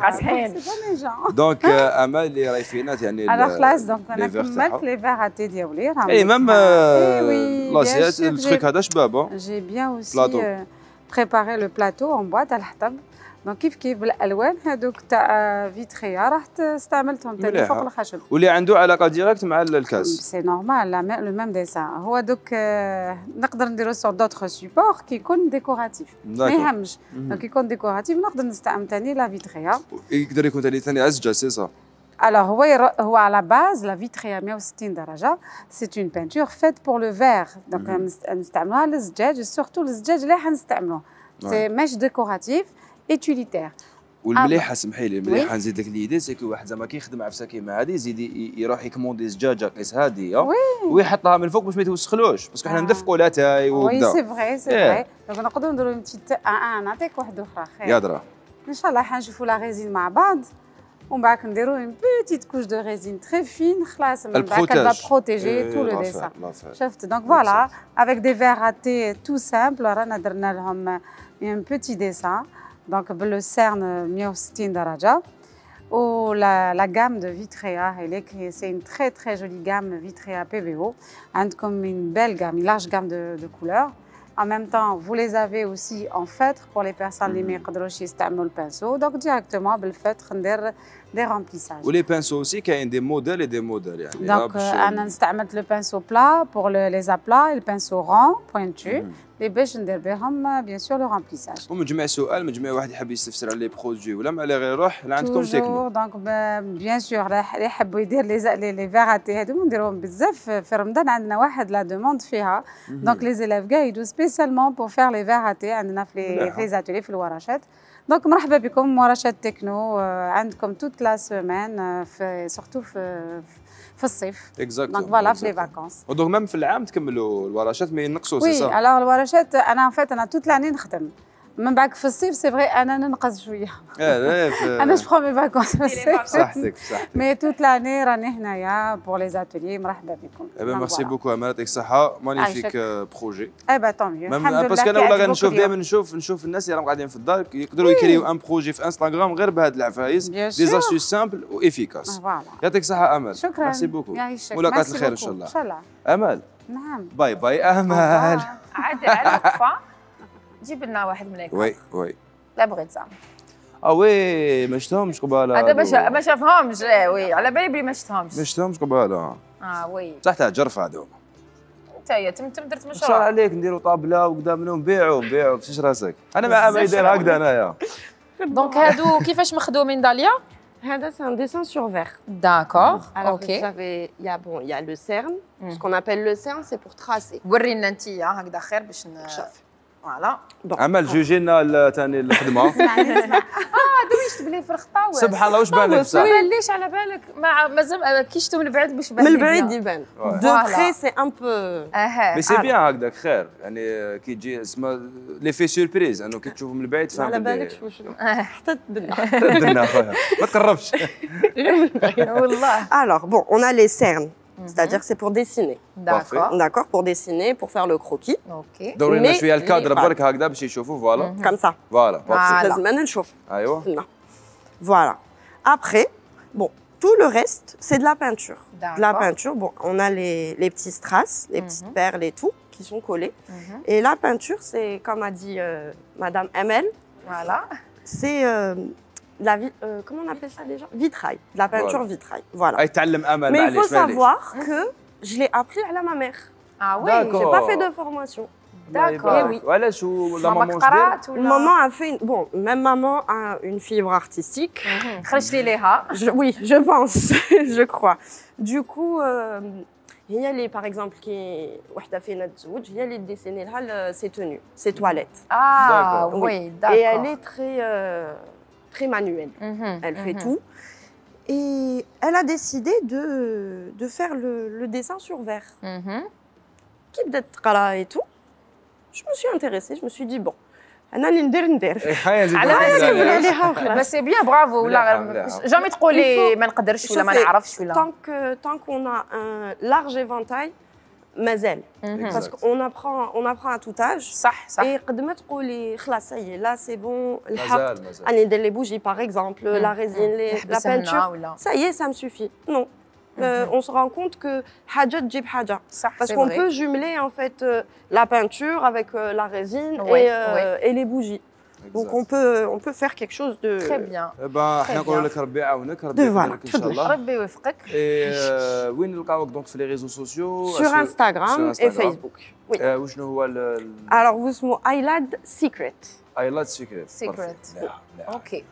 قاصحين. دونك امل اللي راهي فينا يعني انا خلاص دونك انا كملت لي فيغاتي ديالي راهم. اي ميم لاسيات التريك هذا شباب. جي بيان اوسي بريباري لو بلاطو اون بوا تاع الحطب. دونك كيف كيف بالالوان هذوك تاع فيتريا راح استعملتهم تاني فوق الخشب واللي عنده علاقه ديريكت مع الكاس. سي نورمال لا لو ميم ديسان. هو دوك نقدر نديرو سور دوطخ سيبور كي يكون ديكوراتيف ما يهمش. دونك يكون ديكوراتيف نقدر نستعمل تاني لا فيتريا. يقدر يكون تاني ثاني عزجه سي سا. Alors, هو على باز لا فيتريا مية وستين درجة سي اون بانتور فيت بور لو فير. دونك نستعملوها للزجاج سورتو الزجاج اللي حنستعملوه سي ماش ديكوراتيف utilitaire. والمليحه سمحي لي المليحه نزيد لك ليدي سيكو واحد زعما كيخدم عفسه كيما هذه يزيد يروح يكوموندي زجاجه قيس هاديه ويحطها من الفوق باش ما يتوسخلوش باسكو حنا ندفقوا لاتاي وكذا. وي سي فغي سي فغي دونك نقدروا نديروا اون بتيت ان نعطيك واحده اخرى خير. يا درا ان شاء الله حنشوفوا لا ريزين مع بعض ومن بعد نديروا اون بيتيت كوش دو ريزين تري فين خلاص من بعد كتبدا بروتيجي تو لو ديسان. شفت دونك فوالا افيك دي فيغ ا تي تو سامبل رانا درنا لهم اون بيتي ديسان دونك بالسيرن مية وستين درجه و la, la gamme de Vitrea, c'est une très très jolie gamme Vitrea P V O. عندكم une belle gamme, une large gamme de, de couleurs. En même temps, vous les avez aussi en feutre pour les personnes qui ne peuvent pas utiliser le pinceau. Donc directement, le feutre, on fait des remplissages. Et les pinceaux aussi, il y a des modèles et des modèles. يعني. Donc, on a utilisé le pinceau plat pour le, les aplats et le pinceau rond, pointu. Les باش ندير بهم bien sûr le remplissage. ومجمع سؤال مجمع واحد يحب يستفسر على لي برودوي ولا على غير يروح لعندكم تكنو. دونك بيان سور اللي يحبوا يدير لي لي فيغاتي هذو نديروهم بزاف في رمضان عندنا واحد لا دوموند فيها. دونك لي زيلاف كاع يدو سبيسيالمون بور فير لي فيغاتي عندنا في لي زاتولي في الورشات. دونك مرحبا بكم ورشات تكنو عندكم توت لا سيمين في سورتو في في الصيف. دونك فوالا في لي فاكونس. ودونك ميم في العام تكملوا الورشات ما ينقصوا سي صح؟ وي الوغ الورشات انا فات انا توت لاني نخدم من بعد في الصيف سي فغي انا ننقص شويه. انا جو مي فاكونس في الصيف. صحتك صحتك. مي توت لاني راني هنايا بور لي زاتولي مرحبا بكم. اي بي ميرسي بوكو امال يعطيك الصحه مانيفيك بروجي. اي با طون ميو الحمد لله. باسكو انا ولا غنشوف دائما نشوف نشوف الناس اللي راهم قاعدين في الدار يقدروا يكريو ان بروجي في انستغرام غير بهاد العفايس دي زاستيس سامبل وافيكاس. يعطيك الصحه امل. شكرا. ميرسي بوكو. ملاقات الخير ان شاء الله. ان شاء الله. امل. نعم. باي باي امل. عاد على وقفه جيب لنا واحد من هيك. وي وي. لا بغيت زعما. اه وي ما شفتهمش قباله. هذا باش ما شافهمش وي على بالي بلي ما شفتهمش. ما شفتهمش قباله. اه وي. صح تاع جرف هذوما. انت يا تم تم درت مشروع. ان شاء الله عليك نديروا طابله وقدام منهم نبيعوا نبيعوا فيش راسك. انا مع ما يدير هكذا انايا. دونك هادو كيفاش مخدومين داليا؟ هذا c'est un dessin sur verre. D'accord. Alors OK. vous savez, il y a bon, il y a le cerne. Ce qu'on appelle le cerne, c'est pour tracer. ورينا انت هكذا خير باش نشوف. فوالا. عمل جوجي لنا ثاني الخدمه. اه دويشت بلي في الخطاوه. سبحان الله واش بان لك بصح؟ ما ليش على بالك مع مازال كي شفتو من بعد باش بان. من البعيد يبان. دو بري سي ان بو. اها. مي سي بيان هكذاك خير يعني كي تجي اسمها لي في سوربريز انه كي تشوفه من البعيد فهمت. على بالك شنو حتى تدنا. تدنا خويا ما تقربش. والله. Alors bon, on a les cernes. C'est-à-dire que c'est pour dessiner. D'accord. D'accord, pour dessiner, pour faire le croquis. Ok. دورينا شويه الكادر برك هكذا باش يشوفوا فوالا. Comme ça. Voilà. لازم انا نشوف. ايوه. Voilà. Après, bon, tout le reste, c'est de la peinture. De la peinture, bon, on a les, les petits strass, les petites perles et tout, qui sont collés. Et la peinture, c'est, comme a dit euh, Madame Emel, voilà. c'est euh, la vi euh, comment on appelle ça déjà? Vitrail, de la peinture voilà. vitrail. Voilà. Mais il faut savoir que je l'ai appris à ma mère. Ah oui, j'ai pas fait de formation. D'accord. Oui. Voilà, la maman maman a fait une... bon, même maman a une fibre artistique. je, oui, je pense, je crois. Du coup, il y a les, par exemple, qui il y a les dessiner ses tenues, ses toilettes. Ah oui, oui d'accord. Et elle est très euh, très manuelle. Mm-hmm, elle fait mm-hmm. tout. Et elle a décidé de, de faire le, le dessin sur verre. Mm-hmm. Qui peut-être et tout. Je me suis intéressée, je me suis dit bon, انا اللي ندير ندير. بس سي بيان برافو ولا جامي تقولي ما نقدرش ولا ما نعرفش ولا. Tant que tant qu'on a un large éventail مازال. Parce qu'on apprend on apprend à tout âge. صح صح. Et قد ما تقولي خلاص هي لا سي بون الحق اني ندير لي بوجي par exemple, la résine, la peinture. Ça y est, ça me suffit. Non. Euh, on se rend compte que haja tjib haja. Parce qu'on peut jumeler en fait euh, la peinture avec euh, la résine oui, et, euh, oui. et les bougies. Exact. Donc on peut on peut faire quelque chose de très bien. Ben احنا نقول لك ربي يعاونك ربي يوفقك ان شاء الله. ربي يوفقك. وين نلقاوك دونك في لي ريزو سوسيو؟ Sur Instagram et Facebook. Oui. وشنو هو Alors vous اسمه ايلاد سيكريت. ايلاد سيكريت. سيكريت. اوكي.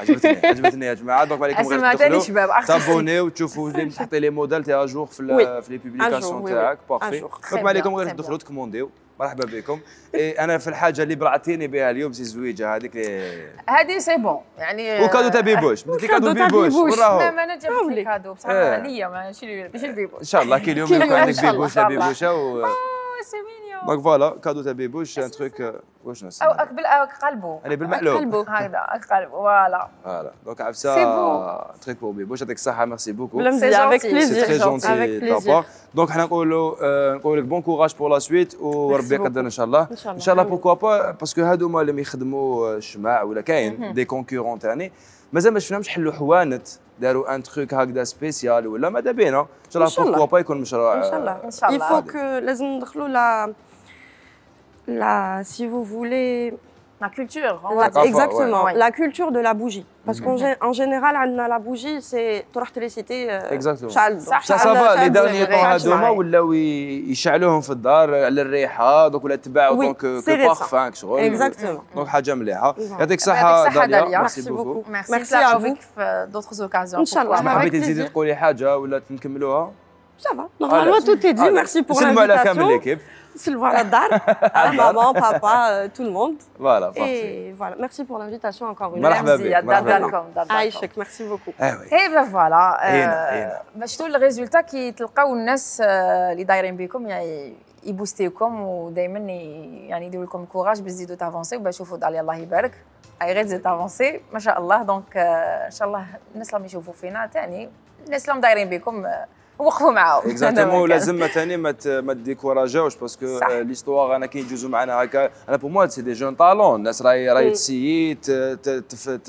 عجبتني عجبتني يا جماعه دونك عليكم غير تدخلوا تابونيو وتشوفوا اللي تحطي لي موديل تاع جور في في لي بوبليكاسيون تاعك بارفي دونك عليكم غير تدخلوا تكومونديو مرحبا بكم. إيه انا في الحاجه اللي برعتيني بها اليوم سي الزويجه هذيك هذه سي بون يعني وكادو تاع بيبوش بديت لي كادو بيبوش وراهو لا ما انا جبت لي كادو بصح ليا ماشي ماشي البيبوش ان شاء الله كي اليوم يكون عندك بيبوشه بيبوشه و سي مينيون دونك فوالا كادو تاع بيبوش ان تروك واش نسمي او قبل قلبو انا بالمقلوب قلبو هكذا قلبو فوالا فوالا دونك عفسه تريك بور بيبوش يعطيك الصحه ميرسي بوكو سي افيك بليزير سي تري جونتي بابا دونك حنا نقولوا نقول لك بون كوراج بور لا سويت وربي يقدر ان شاء الله ان شاء الله بوركوا با باسكو هادوما اللي يخدموا الشماع ولا كاين دي كونكورون ثاني مازال ما شفناهمش حلوا حوانت داروا ان تروك هكذا سبيسيال ولا ماذا بينا ان شاء الله بوركوا با يكون مشروع ان شاء الله ان شاء الله il faut que لازم ندخلوا لا la si vous voulez la culture la, exactement ouais. la culture de la bougie parce qu'en en général la bougie c'est تروح تريسيتي شعل صح ça va les derniers temps هذوما ولاو يشعلوهم في الدار على الريحه دوك ولا تباعوا دونك كبارفان شغل exactement دونك حاجه مليحه يعطيك الصحه داليا ميرسي بوكو ميرسي افيك في دوطخ اوكازيون ان شاء الله حبيتي تزيدي تقولي حاجه ولا نكملوها ça va normalement tout est dit merci pour l'invitation سلموا على كامل ليكيب سلموا على الدار maman papa tout le monde voilà et voilà merci pour l'invitation encore une fois مرحبا بك مرحبا بكم عايشك merci beaucoup اي بلا فوالا باش تقول الريزولتا كي تلقاو الناس اللي دايرين بكم يعني يبوستيوكم ودائما يعني يديروا لكم كوراج باش تزيدوا تافونسي وباش تشوفوا داليا الله يبارك اي غير تزيد تافونسي ما شاء الله دونك ان شاء الله الناس اللي يشوفوا فينا ثاني الناس اللي دايرين بكم وقفوا معاهم اكزاكتومون لازم ثاني ما ما ديكوراجاوش باسكو ليستوار انا كي يجوزوا معنا هكا انا بور موا سي دي جون طالون الناس راهي راهي تسيي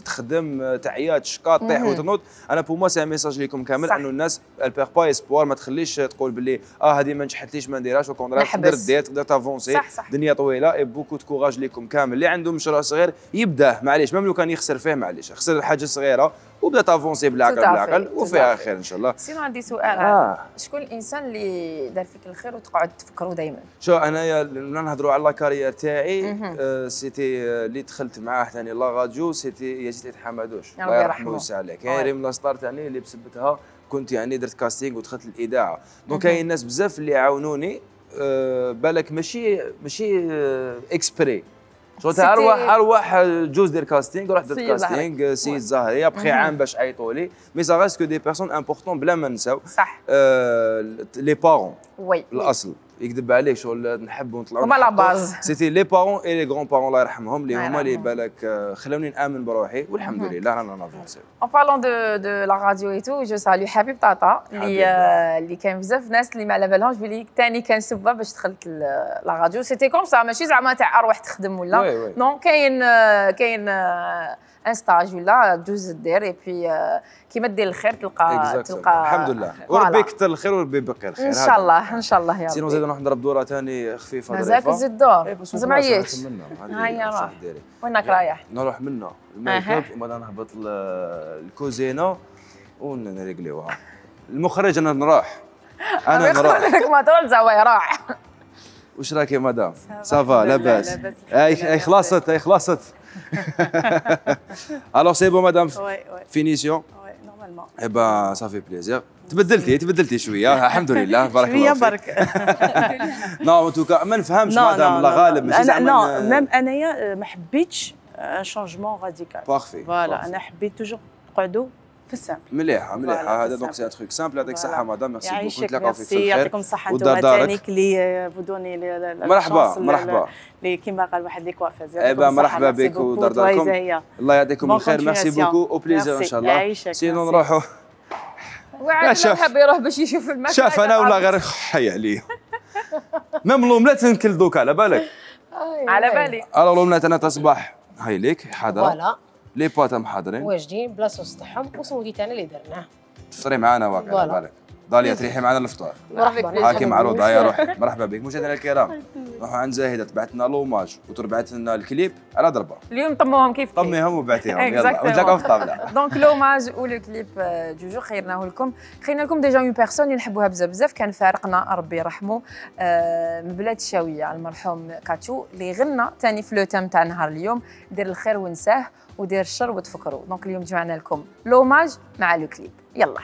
تخدم تعيا تشكا طيح وتنوض انا بور موا سي ان ميساج ليكم كامل انه الناس البيغ با اسبوار ما تخليش تقول باللي اه هذه ما نجحتليش ما نديرهاش وكون تقدر دير تقدر تافونسي الدنيا طويله اي بوكو دو كوراج ليكم كامل اللي عنده مشروع صغير يبداه معليش ميم لو كان يخسر فيه معليش خسر حاجه صغيره وبدا تافونسي بالعقل بالعقل وفيها خير ان شاء الله. سينو عندي سؤال آه. شكون الانسان اللي دار فيك الخير وتقعد تفكروا دائما؟ شو انايا نهضروا على لاكارير تاعي آه سيتي اللي دخلت معاه ثاني لا راديو سيتي يزيد حمادوش الله يرحمه ويسع عليه كاين ريم لاستار ثاني اللي بسبتها كنت يعني درت كاستينغ ودخلت الاذاعه دونك كاين ناس بزاف اللي عاونوني آه بالك ماشي ماشي آه اكسبري شغل تاع ارواح ارواح جوز دير كاستينغ رحت درت كاستينغ سيد زهري ابخي عام باش عيطوا لي مي سا ريست كو دي بيرسون امبورطون بلا ما نساو صح لي بارون وي الاصل يكذب عليك شغل نحبوا نطلعوا هما لا باز سيتي لي بارون اي لي غران بارون الله يرحمهم اللي هما اللي بالك خلوني نامن بروحي والحمد لله رانا نافونسيو. اون بارلون دو دو لا راديو اي تو جو سالو حبيب طاطا اللي اللي كان بزاف ناس اللي ما على بالهمش بلي ثاني كان سبه باش دخلت لا راديو سيتي كوم سا ماشي زعما تاع اروح تخدم ولا نون كاين كاين ان ستاج ولا دوز دير اي بي كيما دير الخير تلقى تلقى الحمد لله وربي يكثر الخير وربي يبقي الخير ان شاء الله ان شاء الله يا ربي. سينو زيد نروح نضرب دوره ثاني خفيفه مازالك تزيد دور مازال ما عييتش هيا راح وينك رايح؟ نروح منا الميك اب وبعد نهبط الكوزينه ونريقليوها المخرج انا نروح انا نروح ما تقول زوايا راح واش راكي مدام؟ سافا لاباس اي اي خلاصت اي خلاصت الوغ سي بون مدام فينيسيون نورمالمون اي با صافي بليزير تبدلتي تبدلتي شويه الحمد لله بارك الله فيك شويه برك نو ان توكا ما نفهمش مدام الله غالب ماشي زعما نو ميم انايا ما حبيتش ان شونجمون راديكال بارفي فوالا انا حبيت توجور نقعدوا في السامبل مليحه مليحه هذا دونك سي ان تروك سامبل يعطيك الصحه مدام ميرسي بوكو نتلاقاو فيك في الخير يعطيكم الصحه انتم ثانيك اللي فودوني مرحبا مرحبا اللي كيما قال واحد لي كوافيز ايوا مرحبا بك ودار داركم الله يعطيكم الخير ميرسي بوكو او بليزير ان شاء الله سينو نروحوا وعاد حاب يروح باش يشوف الماكله شاف انا ولا غير حي عليه ميم لوملات نكل دوكا على بالك على بالي الو لوملات انا تصبح هاي ليك حاضره فوالا لي بات محاضرين واجدين بلا صوص تاعهم وسموتي تاعنا اللي درناه تفطري معنا واقع على بالك داليا تريحي معنا الفطور مرحبا هاكي معروضه يا روحي مرحبا بك مشاهدينا الكرام نروحوا عند زاهده تبعت لنا لوماج وتربعت لنا الكليب على ضربه اليوم طموهم كيف كيف طميهم وبعتيهم يلا ونتلاقاو في الطابله دونك لوماج ولو كليب جوجو خيرناه لكم خيرنا لكم ديجا اون بيرسون اللي نحبوها بزاف بزاف كان فارقنا ربي يرحمه من بلاد الشاويه المرحوم كاتشو اللي غنى ثاني في لو تام تاع نهار اليوم دير الخير ونساه ودير الشر وتفكروا دونك اليوم جمعنا لكم لوماج مع لو كليب يلا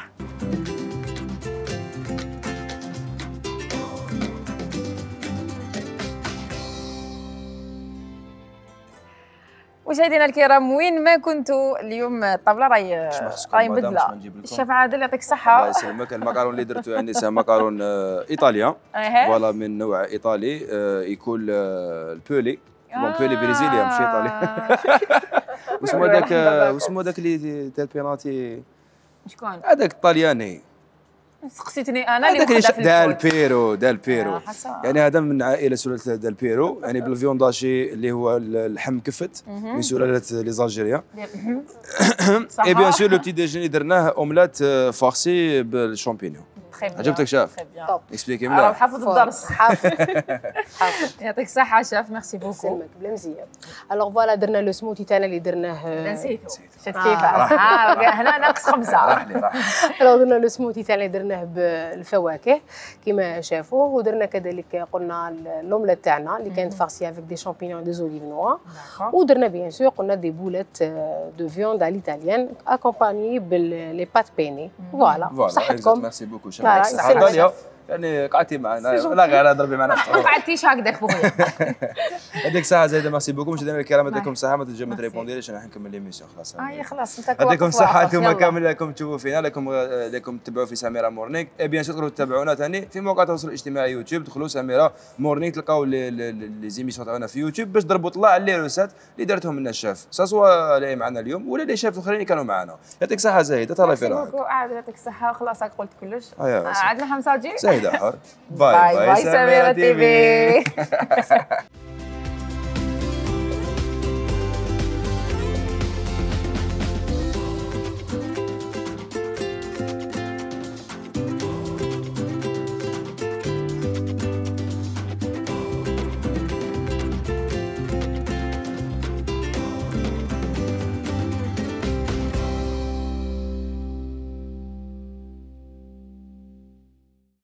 مشاهدينا الكرام وين ما كنتوا اليوم الطابله راهي راهي مبدله. الشيف عادل يعطيك الصحه. الله يسلمك. المكرون اللي درتو يعني سي مكرون ايطاليان فوالا من نوع ايطالي يكون البولي بون بولي بريزيليا ماشي ايطالي. واسمو هذاك واسمو هذاك اللي تاع البيناتي شكون؟ هذاك الطلياني سقسيتني انا اللي وحده في دال بيرو دال بيرو يعني هذا من عائله سلاله دال بيرو يعني بالفيونداشي اللي هو اللحم كفت من سلاله لي زالجيريان. اي بيان سور لو بتي ديجيني درناه اوملات فارسي بالشامبينيون. عجبتك شاف؟ اكسبليكي ملا. راه حافظ الدرس حافظ. يعطيك الصحة شاف ميرسي بوكو. يسلمك بلا مزيان. الوغ فوالا درنا لو سموتي تاعنا اللي درناه. نسيتو. شفت كيف؟ هنا ناقص خمسة. راح لي راح. الوغ درنا لو سموتي تاعنا اللي درناه بالفواكه كيما شافوه ودرنا كذلك قلنا اللوملات تاعنا اللي كانت فارسيه افيك دي شامبينيون دي زوليف نوار ودرنا بيان سور قلنا دي بولات دو فيوند على ليتاليان اكومباني باللي بات بيني. فوالا صحتكم. ميرسي بوكو داليا يعني قعدتي معنا لا غير ضربي معنا ما قعدتيش هكذاك بويا. يعطيك الصحة زايدة ميرسي بوكو مشاهدينا الكرام يعطيكم الصحة ما تجي ما تريبونديليش انا نكمل ليميسيون خلاص. اي خلاص انت يعطيكم الصحة انتم كامل لكم تشوفوا فينا لكم لكم تتبعوا في سميرة مورنينغ اي بيان سور تقدروا تتابعونا ثاني في مواقع التواصل الاجتماعي يوتيوب دخلوا سميرة مورنينغ تلقاو لي زيميسيون تاعنا في يوتيوب باش ضربوا طلع على لي روسات اللي دارتهم لنا الشاف سواء اللي معنا اليوم ولا لي شاف الاخرين اللي كانوا معنا. يعطيك الصحة زايدة تهلا في روحك. يعطيك الصحة خلاص قلت كلش. عندنا حمزة جي زايدة حار. باي باي سميرة تي في.